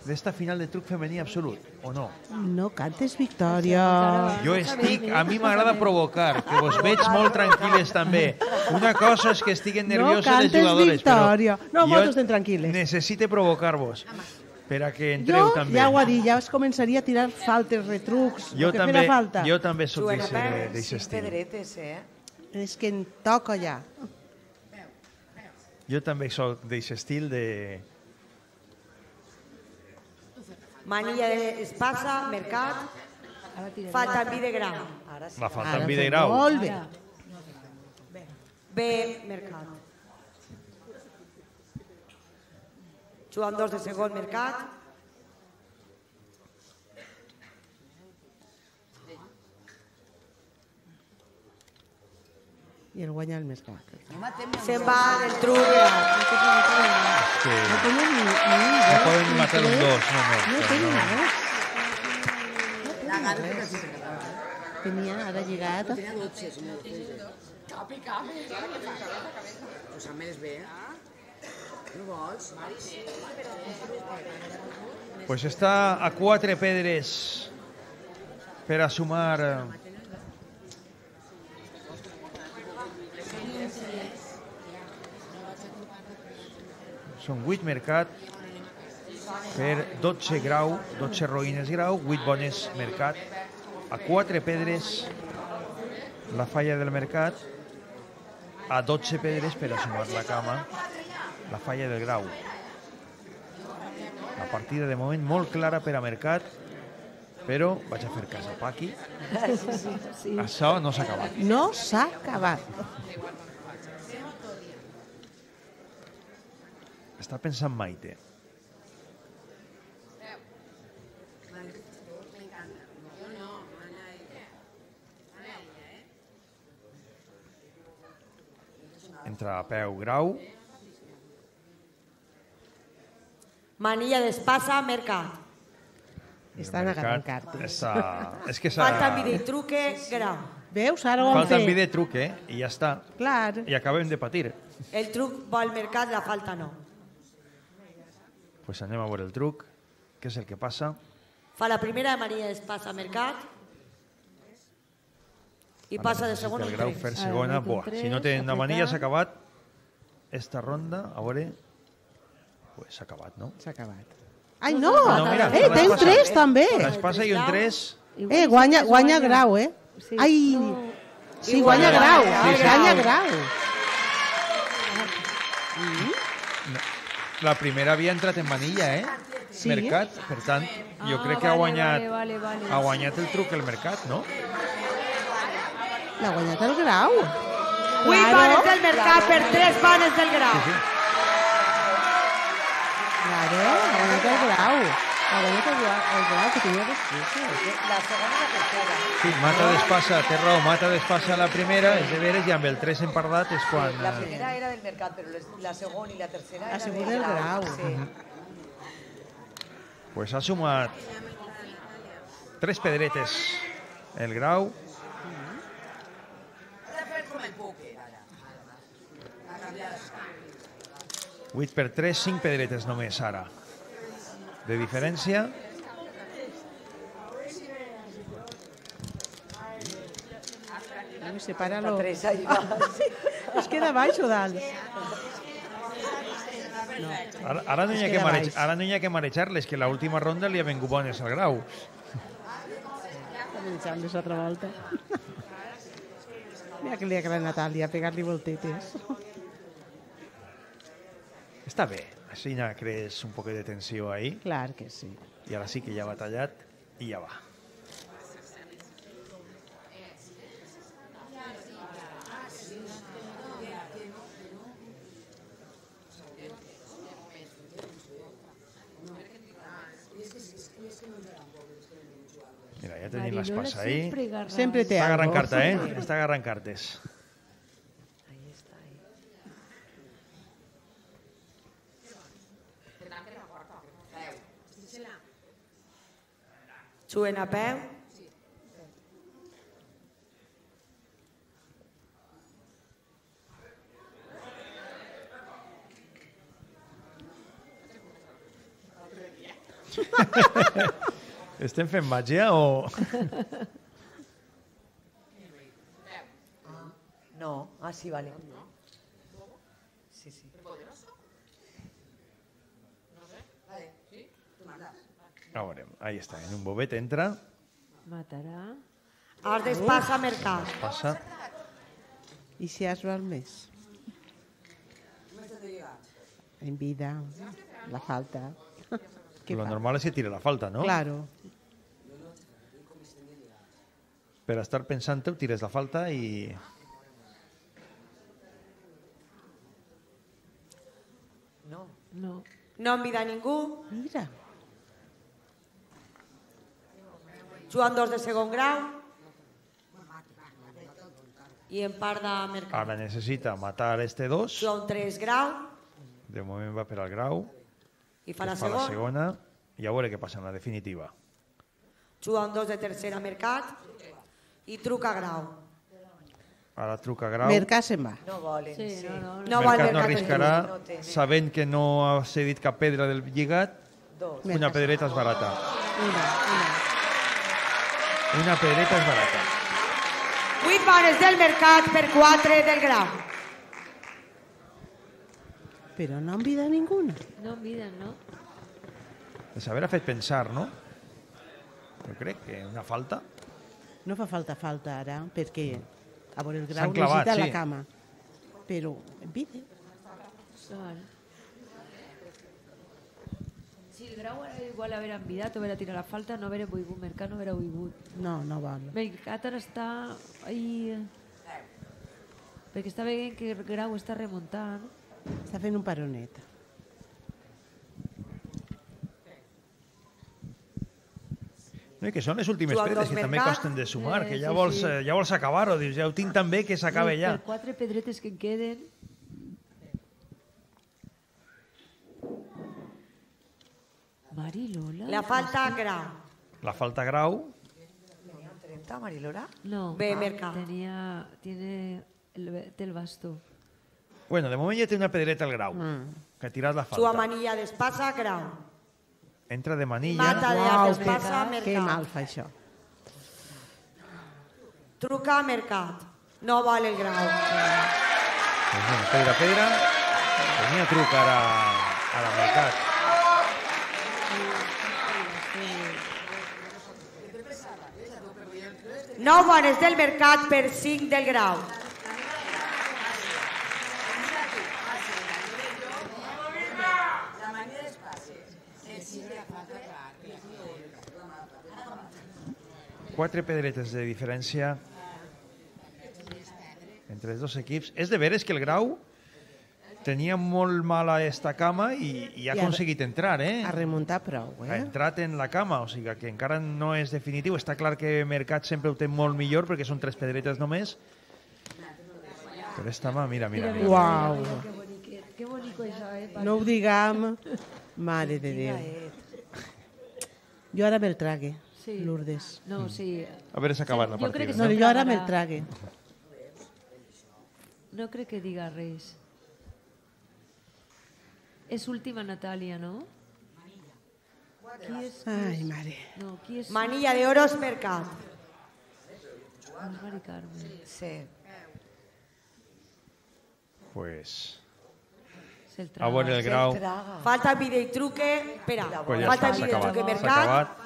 d'esta final de truc femení absolut, o no? No cantes victòria. Jo estic, a mi m'agrada provocar, que vos veig molt tranquil·les també. Una cosa és que estiguen nervioses no les jugadores, victòria. però No, jo vosaltres estem tranquil·les. necessite provocar-vos per a que entreu Jo també. ja ho ha dit, ja es començaria a tirar faltes, retrucs, Jo el que també, fera falta. jo també soc Suena d'això per d'aquest sis estil. pedretes, eh? És que em toca ja. Jo també soc d'aquest estil de... Manilla de espasa, mercat. Falta en vi de grau. Ara sí. La falta Ara en vi fem de grau. Molt bé. B, mercat. Jugant dos de segon, mercat. I el guanya el més clar. Se'n va del truc. grau. Que No tenen ni, ni un no dos, poden ni matar un tres. dos, no, no. No però tenen no. res. La gana que sí. Tenia ara lligat. Tenia dotze, si no. Capi, capi. Pues a més bé. No vols? Pues està a quatre pedres per a sumar eh, són vuit Mercat per dotze grau, dotze roïnes grau, vuit bones Mercat. A quatre pedres la falla del Mercat, a dotze pedres per a sumar la cama la falla del grau. La partida de moment molt clara per a Mercat, però vaig a fer cas a Paqui. Sí, sí, sí. Això no s'ha acabat. No s'ha acabat. Està pensant Maite. Entra a peu grau. Manilla d'espasa, mercat. Estan agarrant cartes. Està... És que s'ha... Falta en vi de truque, grau. Veus? Ara ho han Falta en fet. vi de truc, eh? I ja està. Clar. I acabem de patir. El truc va al mercat, la falta no. Pues anem a veure el truc. Què és el que passa? Fa la primera de Maria Espasa Mercat i passa de segon El en Grau tres. fer segona. Buah, si no té una manilla s'ha acabat esta ronda. A veure... Pues s'ha acabat, no? S'ha acabat. Ai, no! No, mira, eh, té un tres, també. L'Espasa i un tres... Eh, guanya, guanya Grau, eh? Ai, sí, guanya Grau, guanya Grau. La primera havia entrat en manilla, eh? Sí. Mercat, per tant, jo crec que ha guanyat, ha guanyat el truc el Mercat, no? L'ha guanyat el Grau. vuit panes del Mercat per tres panes del Grau. Claro, l'ha guanyat el Grau. L'ha guanyat el Grau, el Grau que tenia dos pisos. La segona i la tercera. Sí, mata d'Espasa, té raó, mata d'Espasa la primera, és de veres, i amb el tres empardat és quan... La primera era del Mercat, però les- la segona i la tercera La era segona del del Grau. Sí. Pues ha sumat tres pedretes el Grau. vuit per tres, cinc pedretes només ara. De diferència. Separa-lo. Tres, ahí va. Es queda baix o dalt? No. Ara, ara, no hi ha Es que queda marejar, baix. ara no hi ha que marejar-les, que l'última ronda li ha vengut bones al Grau. Menjant-les altra volta. Mira que li agrada a Natàlia pegar-li voltetes. Està bé, així ja crees un poc de tensió ahí. Clar que sí. I ara sí que ja va tallat i ja va. Mira, ja tenim l'Espasa ahí. Sempre té Està agarrant algo. carta, eh? Està agarrant cartes. Juguen a peu. Estem fent màgia o...? No, ah, sí, vale. Sí, sí. A veure, ahí està, en un bobet entra, Matarà. Has d'Espasa Mercat. passa... I si has val més? En vida, la falta. Què Lo fa? normal és que tire la falta, no? Claro. Per estar pensant-ho, tires la falta i... No. No. No envida ningú. Mira. Joan dos de segon grau. I en part de Mercat. Ara necessita matar este dos. Joan tres grau. De moment va per al Grau. I fa que la fa la segona. segona. I a veure què passa en la definitiva. Joan dos de tercera Mercat. I truca grau. Ara truca Grau. Mercat se'n va. No volen, Sí, sí. no, no, no. No vol Mercat no Mercat. arriscarà, No té, no. sabent que no ha cedit cap pedra del lligat. Dos. Una pedreta és barata. Una, una. Una pedreta és barata. vuit panes del Mercat per quatre del grau. Però no envida ninguna. No enviden, no? De saber ha fet pensar, no? Jo crec que una falta. No fa falta falta ara, perquè a veure el S'han grau clavat, necessita sí. la cama. Però envida. Vale. Si el grau ara igual haver envidat o haver tirat la falta, no haver volgut, Mercat no haver volgut. No, no val. Mercat ara està ahí... Perquè està veient que el grau està remuntant. Està fent un paronet. No, i que són les últimes Joan pedres dos que també Mercat. costen de sumar, Eh, que ja sí, vols, sí. eh, ja vols acabar-ho, dius, ja ho tinc tan bé que s'acabe I ja. Per quatre pedretes que en queden... Marilola... La falta grau. La falta Grau, ¿Tenía un treinta, Marilora? No, Ve, Mercat. tenía, tiene el, té el bastó. bueno, de moment ja té una pedreta al Grau, Mm. que ha tirat la Sua falta. manilla d'Espasa grau. Entra de manilla. Mata de Uau, Artes que, passa a que Mercat. mal fa això. Truca a Mercat. No val el grau. Pues bueno, pedra, pedra. Tenia truc ara a la Mercat. Nou bones del Mercat per cinc del grau. Quatre pedretes de diferència entre els dos equips. És de veres que el Grau tenia molt mala esta cama i, i ha I ha- aconseguit entrar, eh? Ha remuntat prou, Ha eh? entrat en la cama, o sigui que encara no és definitiu. Està clar que Mercat sempre ho té molt millor perquè són tres pedretes només. Però esta mà, mira, mira. mira. Uau. Que boniquet, que bonico això, eh? No ho diguem. Mare de Déu. Jo ara me'l trague, Sí. Lourdes. No, sí. A veure si s'ha acabat la Jo crec partida. que No, sí. jo ara me'l trague. No crec que diga res. És última Natàlia, no? Qui és? qui Ai, és? mare. No, qui és? Manilla de oros Mercat. No és Mari Carmen. Sí. Pues... Se'l A veure el Se'l Grau. Traga. Falta vídeo i truque. Espera, Pues ja falta està, s'ha vídeo i acabat. truque S'ha Mercat. acabat.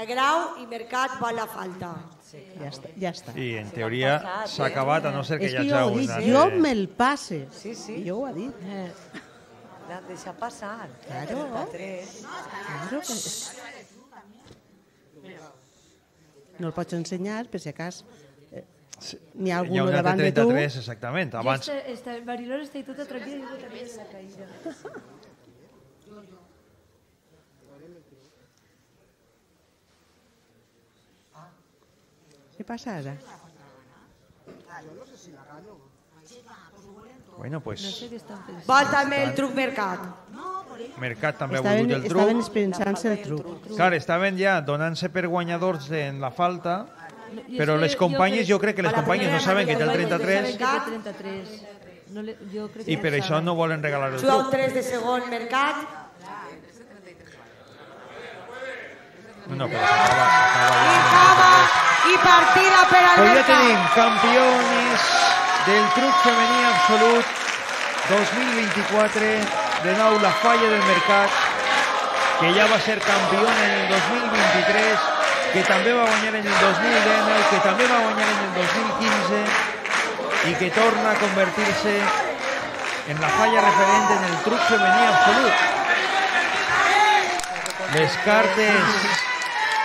El grau i Mercat va la falta. Ja està. Ja està. I en teoria s'ha acabat, a no ser que És hi que hagi jo ho he un... dit, altre- jo me'l passe. Sí, sí. I jo ho he dit. Eh, L'han deixat passar. Claro. Tres. Claro que... No el pots ensenyar, per si acas eh, n'hi ha Hi ha algú un altre davant de tu. trenta-tres, exactament. Abans... Jo està, està, Marilor està tota tranquil·la i jo també en la caïda. Què passa ara? Bueno, No pues... sé què estan pensant. Vol també el truc Mercat. Mercat també ha Estaven, volgut el estaven truc. pensant-se el truc. Clar, estaven ja donant-se per guanyadors en la falta, I però és que les companyes, jo crec que les a la companyes no primera saben que té el Maria trenta-tres Saben que té trenta-tres. No le, jo crec i que per no això saben. no volen regalar el Juga un truc. tres de segon Mercat. No, no, però s'acaba, s'acaba I ja. acaba i partida per al Pues ja Mercat. tenim campions del truc femení absolut dos mil vint-i-quatre, de nou la falla del Mercat, que ja va ser campiona en el dos mil vint-i-tres, que també va guanyar en el dos mil dinou, que també va guanyar en el dos mil quinze i que torna a convertir-se en la falla referent en el truc femení absolut. Les cartes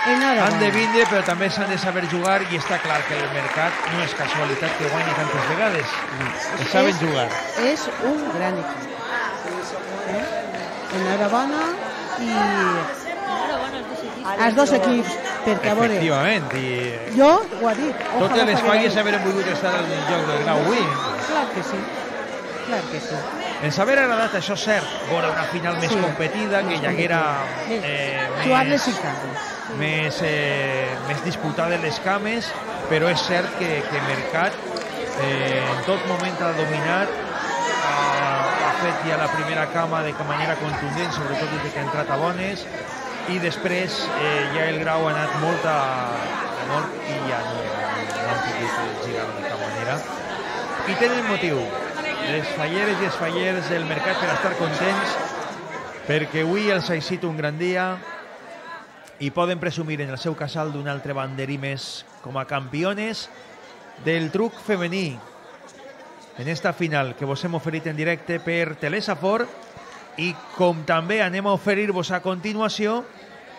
han de vindre, però també s'han de saber jugar i està clar que el Mercat no és casualitat que guanyi tantes vegades. Es saben És- jugar. És un gran equip. Eh? Enhorabona i als dos equips, perquè a veure, Efectivament, i jo ho he dit. totes ojalà les fallarem. falles haurem volgut estar en el joc del Grau avui. Clar que sí, clar que sí. Ens haver agradat, això és cert, veure una final més Sí. competida, que hi haguera eh, Jugar-les més, i cames. més, eh, més disputada les cames, però és cert que, que Mercat eh, en tot moment ha dominat, ha, ha fet ja la primera cama de manera contundent, sobretot des que ha entrat a bones, i després eh, ja el Grau ha anat molt a, a mort i ja no, no han pogut girar de cap manera. I tenen motiu, les falleres i els fallers del Mercat, per estar contents, perquè avui els ha eixit un gran dia i poden presumir en el seu casal d'un altre banderí més com a campiones del truc femení en esta final que vos hem oferit en directe per Telesafor, i com també anem a oferir-vos a continuació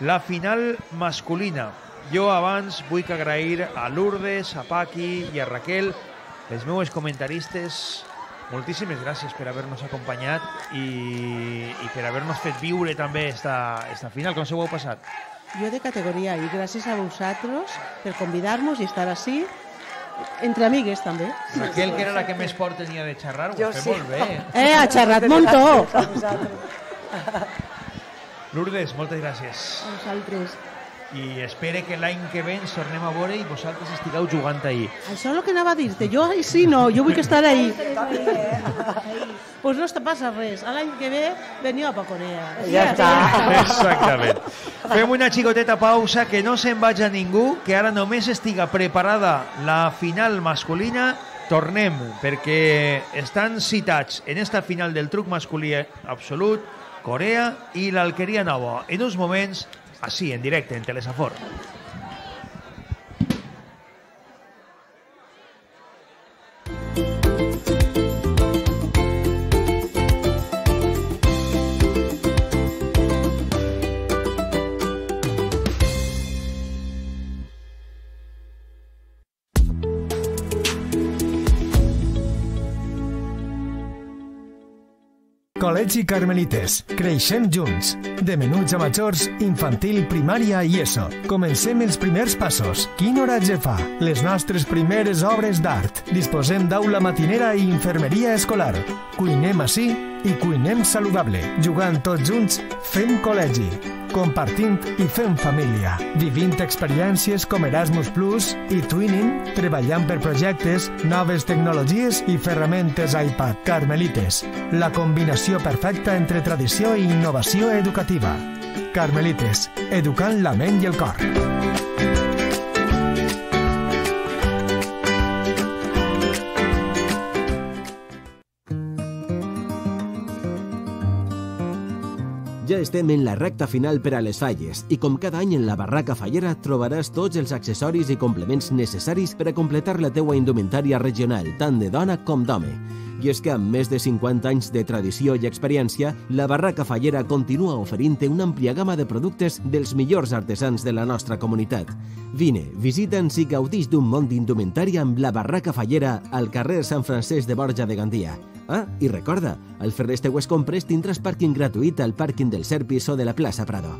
la final masculina. Jo abans vull agrair a Lourdes, a Paqui i a Raquel, les meues comentaristes. Moltíssimes gràcies per haver-nos acompanyat i, i per haver-nos fet viure també esta, esta final. Com se ho heu passat? Jo de categoria i gràcies a vosaltres per convidar-nos i estar així, entre amigues també. Raquel, que era la que més por tenia de xerrar, ho Jo ha fet sí. molt bé. Eh, ha xerrat montó. Lourdes, moltes gràcies. A vosaltres. I espere que l'any que ve ens tornem a veure i vosaltres estigueu jugant ahir. Això és el que anava a dir-te. Jo sí, no, jo vull que estar ahí. Ahí. pues no te passa res. L'any que ve veniu a Corea. Ja està. Exactament. Fem una xicoteta pausa, que no se'n vagi ningú, que ara només estiga preparada la final masculina. Tornem, perquè estan citats en esta final del truc masculí absolut Corea i l'Alqueria Nova. En uns moments, així, en directe, en Telesafor. Col·legi Carmelites. Creixem junts. De menuts a majors, infantil, primària i ESO. Comencem els primers passos. Quin oratge fa? Les nostres primeres obres d'art. Disposem d'aula matinera i infermeria escolar. Cuinem ací i cuinem saludable. Jugant tots junts, fem col·legi. Compartint i fent família. Vivint experiències com Erasmus Plus i Twinning, treballant per projectes, noves tecnologies i ferramentes iPad. Carmelites. La combinació perfecta entre tradició i innovació educativa. Carmelites. Educant la ment i el cor. Ja estem en la recta final per a les falles i com cada any en la Barraca Fallera trobaràs tots els accessoris i complements necessaris per a completar la teua indumentària regional, tant de dona com d'home. I és que amb més de cinquanta anys de tradició i experiència, la Barraca Fallera continua oferint-te una àmplia gamma de productes dels millors artesans de la nostra comunitat. Vine, visita'ns i gaudix d'un món d'indumentària amb la Barraca Fallera al carrer Sant Francesc de Borja de Gandia. Ah, i recorda, al fer les teues compres tindràs pàrquing gratuït al pàrquing del Serpis o de la plaça Prado.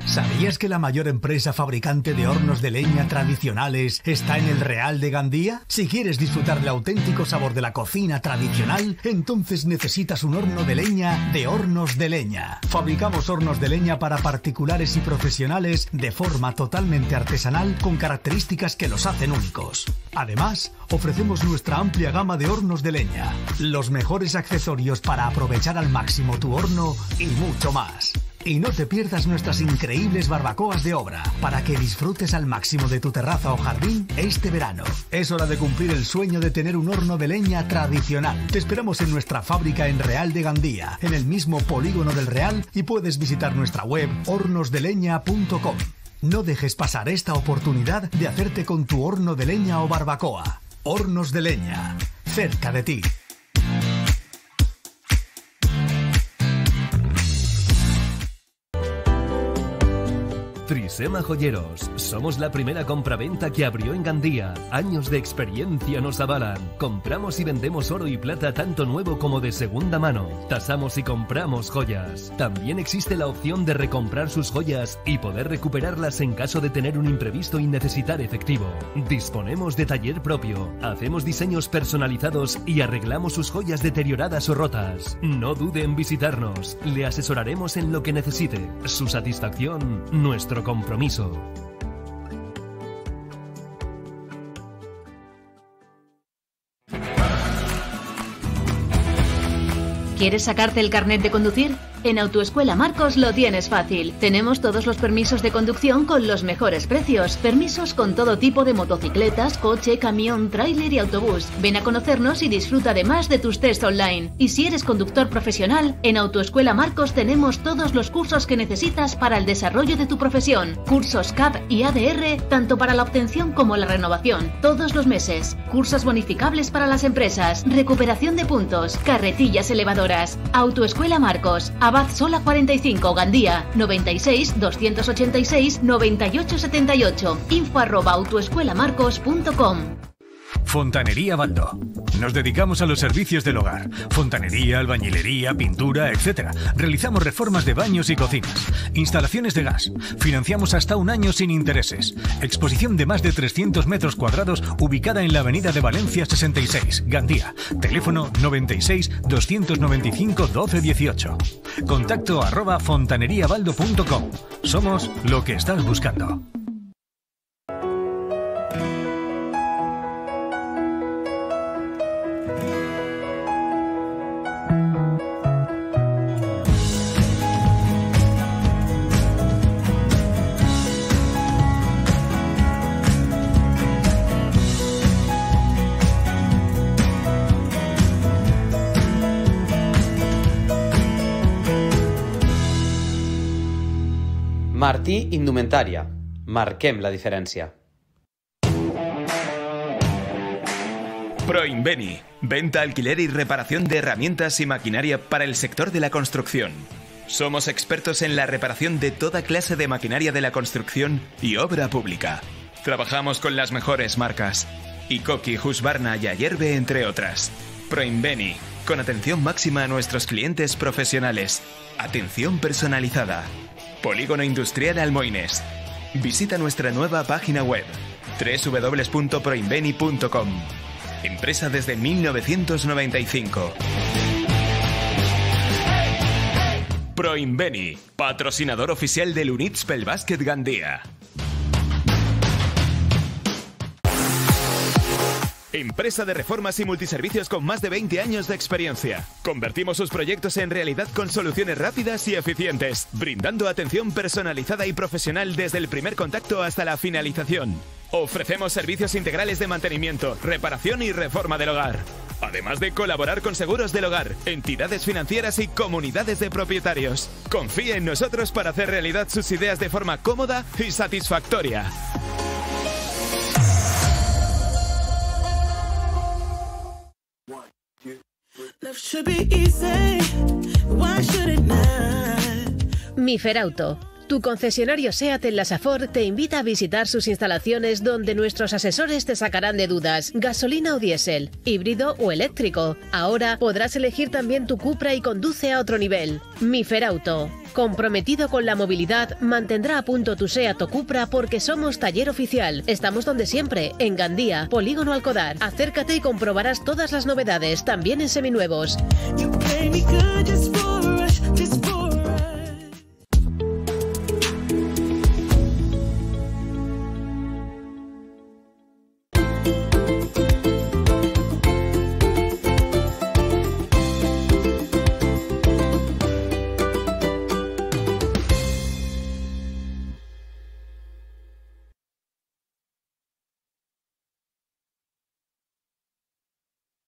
¿Sabías que la mayor empresa fabricante de hornos de leña tradicionales está en el Real de Gandía? Si quieres disfrutar del auténtico sabor de la cocina tradicional, entonces necesitas un horno de leña de Hornos de Leña. Fabricamos hornos de leña para particulares y profesionales de forma totalmente artesanal con características que los hacen únicos. Además, ofrecemos nuestra amplia gama de hornos de leña, los mejores accesorios para aprovechar al máximo tu horno y mucho más. Y no te pierdas nuestras increíbles barbacoas de obra para que disfrutes al máximo de tu terraza o jardín este verano. Es hora de cumplir el sueño de tener un horno de leña tradicional. Te esperamos en nuestra fábrica en Real de Gandía, en el mismo polígono del Real, y puedes visitar nuestra web hornos de leña punto com. No dejes pasar esta oportunidad de hacerte con tu horno de leña o barbacoa. Hornos de Leña, cerca de ti. Trisema Joyeros. Somos la primera compraventa que abrió en Gandía. Años de experiencia nos avalan. Compramos y vendemos oro y plata tanto nuevo como de segunda mano. Tasamos y compramos joyas. También existe la opción de recomprar sus joyas y poder recuperarlas en caso de tener un imprevisto y necesitar efectivo. Disponemos de taller propio. Hacemos diseños personalizados y arreglamos sus joyas deterioradas o rotas. No dude en visitarnos. Le asesoraremos en lo que necesite. Su satisfacción, nuestro compromiso. ¿Quieres sacarte el carnet de conducir? En Autoescuela Marcos lo tienes fácil. Tenemos todos los permisos de conducción con los mejores precios. Permisos con todo tipo de motocicletas, coche, camión, tráiler y autobús. Ven a conocernos y disfruta además de tus test online. Y si eres conductor profesional, en Autoescuela Marcos tenemos todos los cursos que necesitas para el desarrollo de tu profesión. Cursos C A P y A D R, tanto para la obtención como la renovación, todos los meses. Cursos bonificables para las empresas, recuperación de puntos, carretillas elevadoras. Autoescuela Marcos, Abad Sola cuarenta y cinco, Gandía, noventa y seis, doscientos ochenta y seis, noventa y ocho setenta y ocho, info arroba autoescuelamarcos punto com. Fontanería Baldo. Nos dedicamos a los servicios del hogar. Fontanería, albañilería, pintura, etcétera. Realizamos reformas de baños y cocinas. Instalaciones de gas. Financiamos hasta un año sin intereses. Exposición de más de trescientos metros cuadrados ubicada en la avenida de Valencia sesenta y seis, Gandía. Teléfono noventa y seis, doscientos noventa y cinco, doce dieciocho. Contacto arroba fontaneriabaldo punto com. Somos lo que estás buscando. Martí Indumentaria. Marquem la diferencia. Proinveni. Venta, alquiler y reparación de herramientas y maquinaria para el sector de la construcción. Somos expertos en la reparación de toda clase de maquinaria de la construcción y obra pública. Trabajamos con las mejores marcas. Ikoki, Husqvarna y Ayerbe, entre otras. Proinveni. Con atención máxima a nuestros clientes profesionales. Atención personalizada. Polígono Industrial Almoines. Visita nuestra nueva página web doble u doble u doble u punto proinveni punto com. Empresa desde mil novecientos noventa y cinco. Proinveni, patrocinador oficial del Unitspel Básquet Gandía. Empresa de reformas y multiservicios con más de veinte años de experiencia. Convertimos sus proyectos en realidad con soluciones rápidas y eficientes, brindando atención personalizada y profesional desde el primer contacto hasta la finalización. Ofrecemos servicios integrales de mantenimiento, reparación y reforma del hogar. Además de colaborar con seguros del hogar, entidades financieras y comunidades de propietarios. Confíe en nosotros para hacer realidad sus ideas de forma cómoda y satisfactoria. Miferauto, tu concesionario SEAT en la Safor, te invita a visitar sus instalaciones donde nuestros asesores te sacarán de dudas. Gasolina o diésel, híbrido o eléctrico. Ahora podrás elegir también tu Cupra y conduce a otro nivel. Miferauto, comprometido con la movilidad, mantendrá a punto tu SEAT o Cupra porque somos taller oficial. Estamos donde siempre, en Gandía, Polígono Alcodar. Acércate y comprobarás todas las novedades, también en seminuevos. You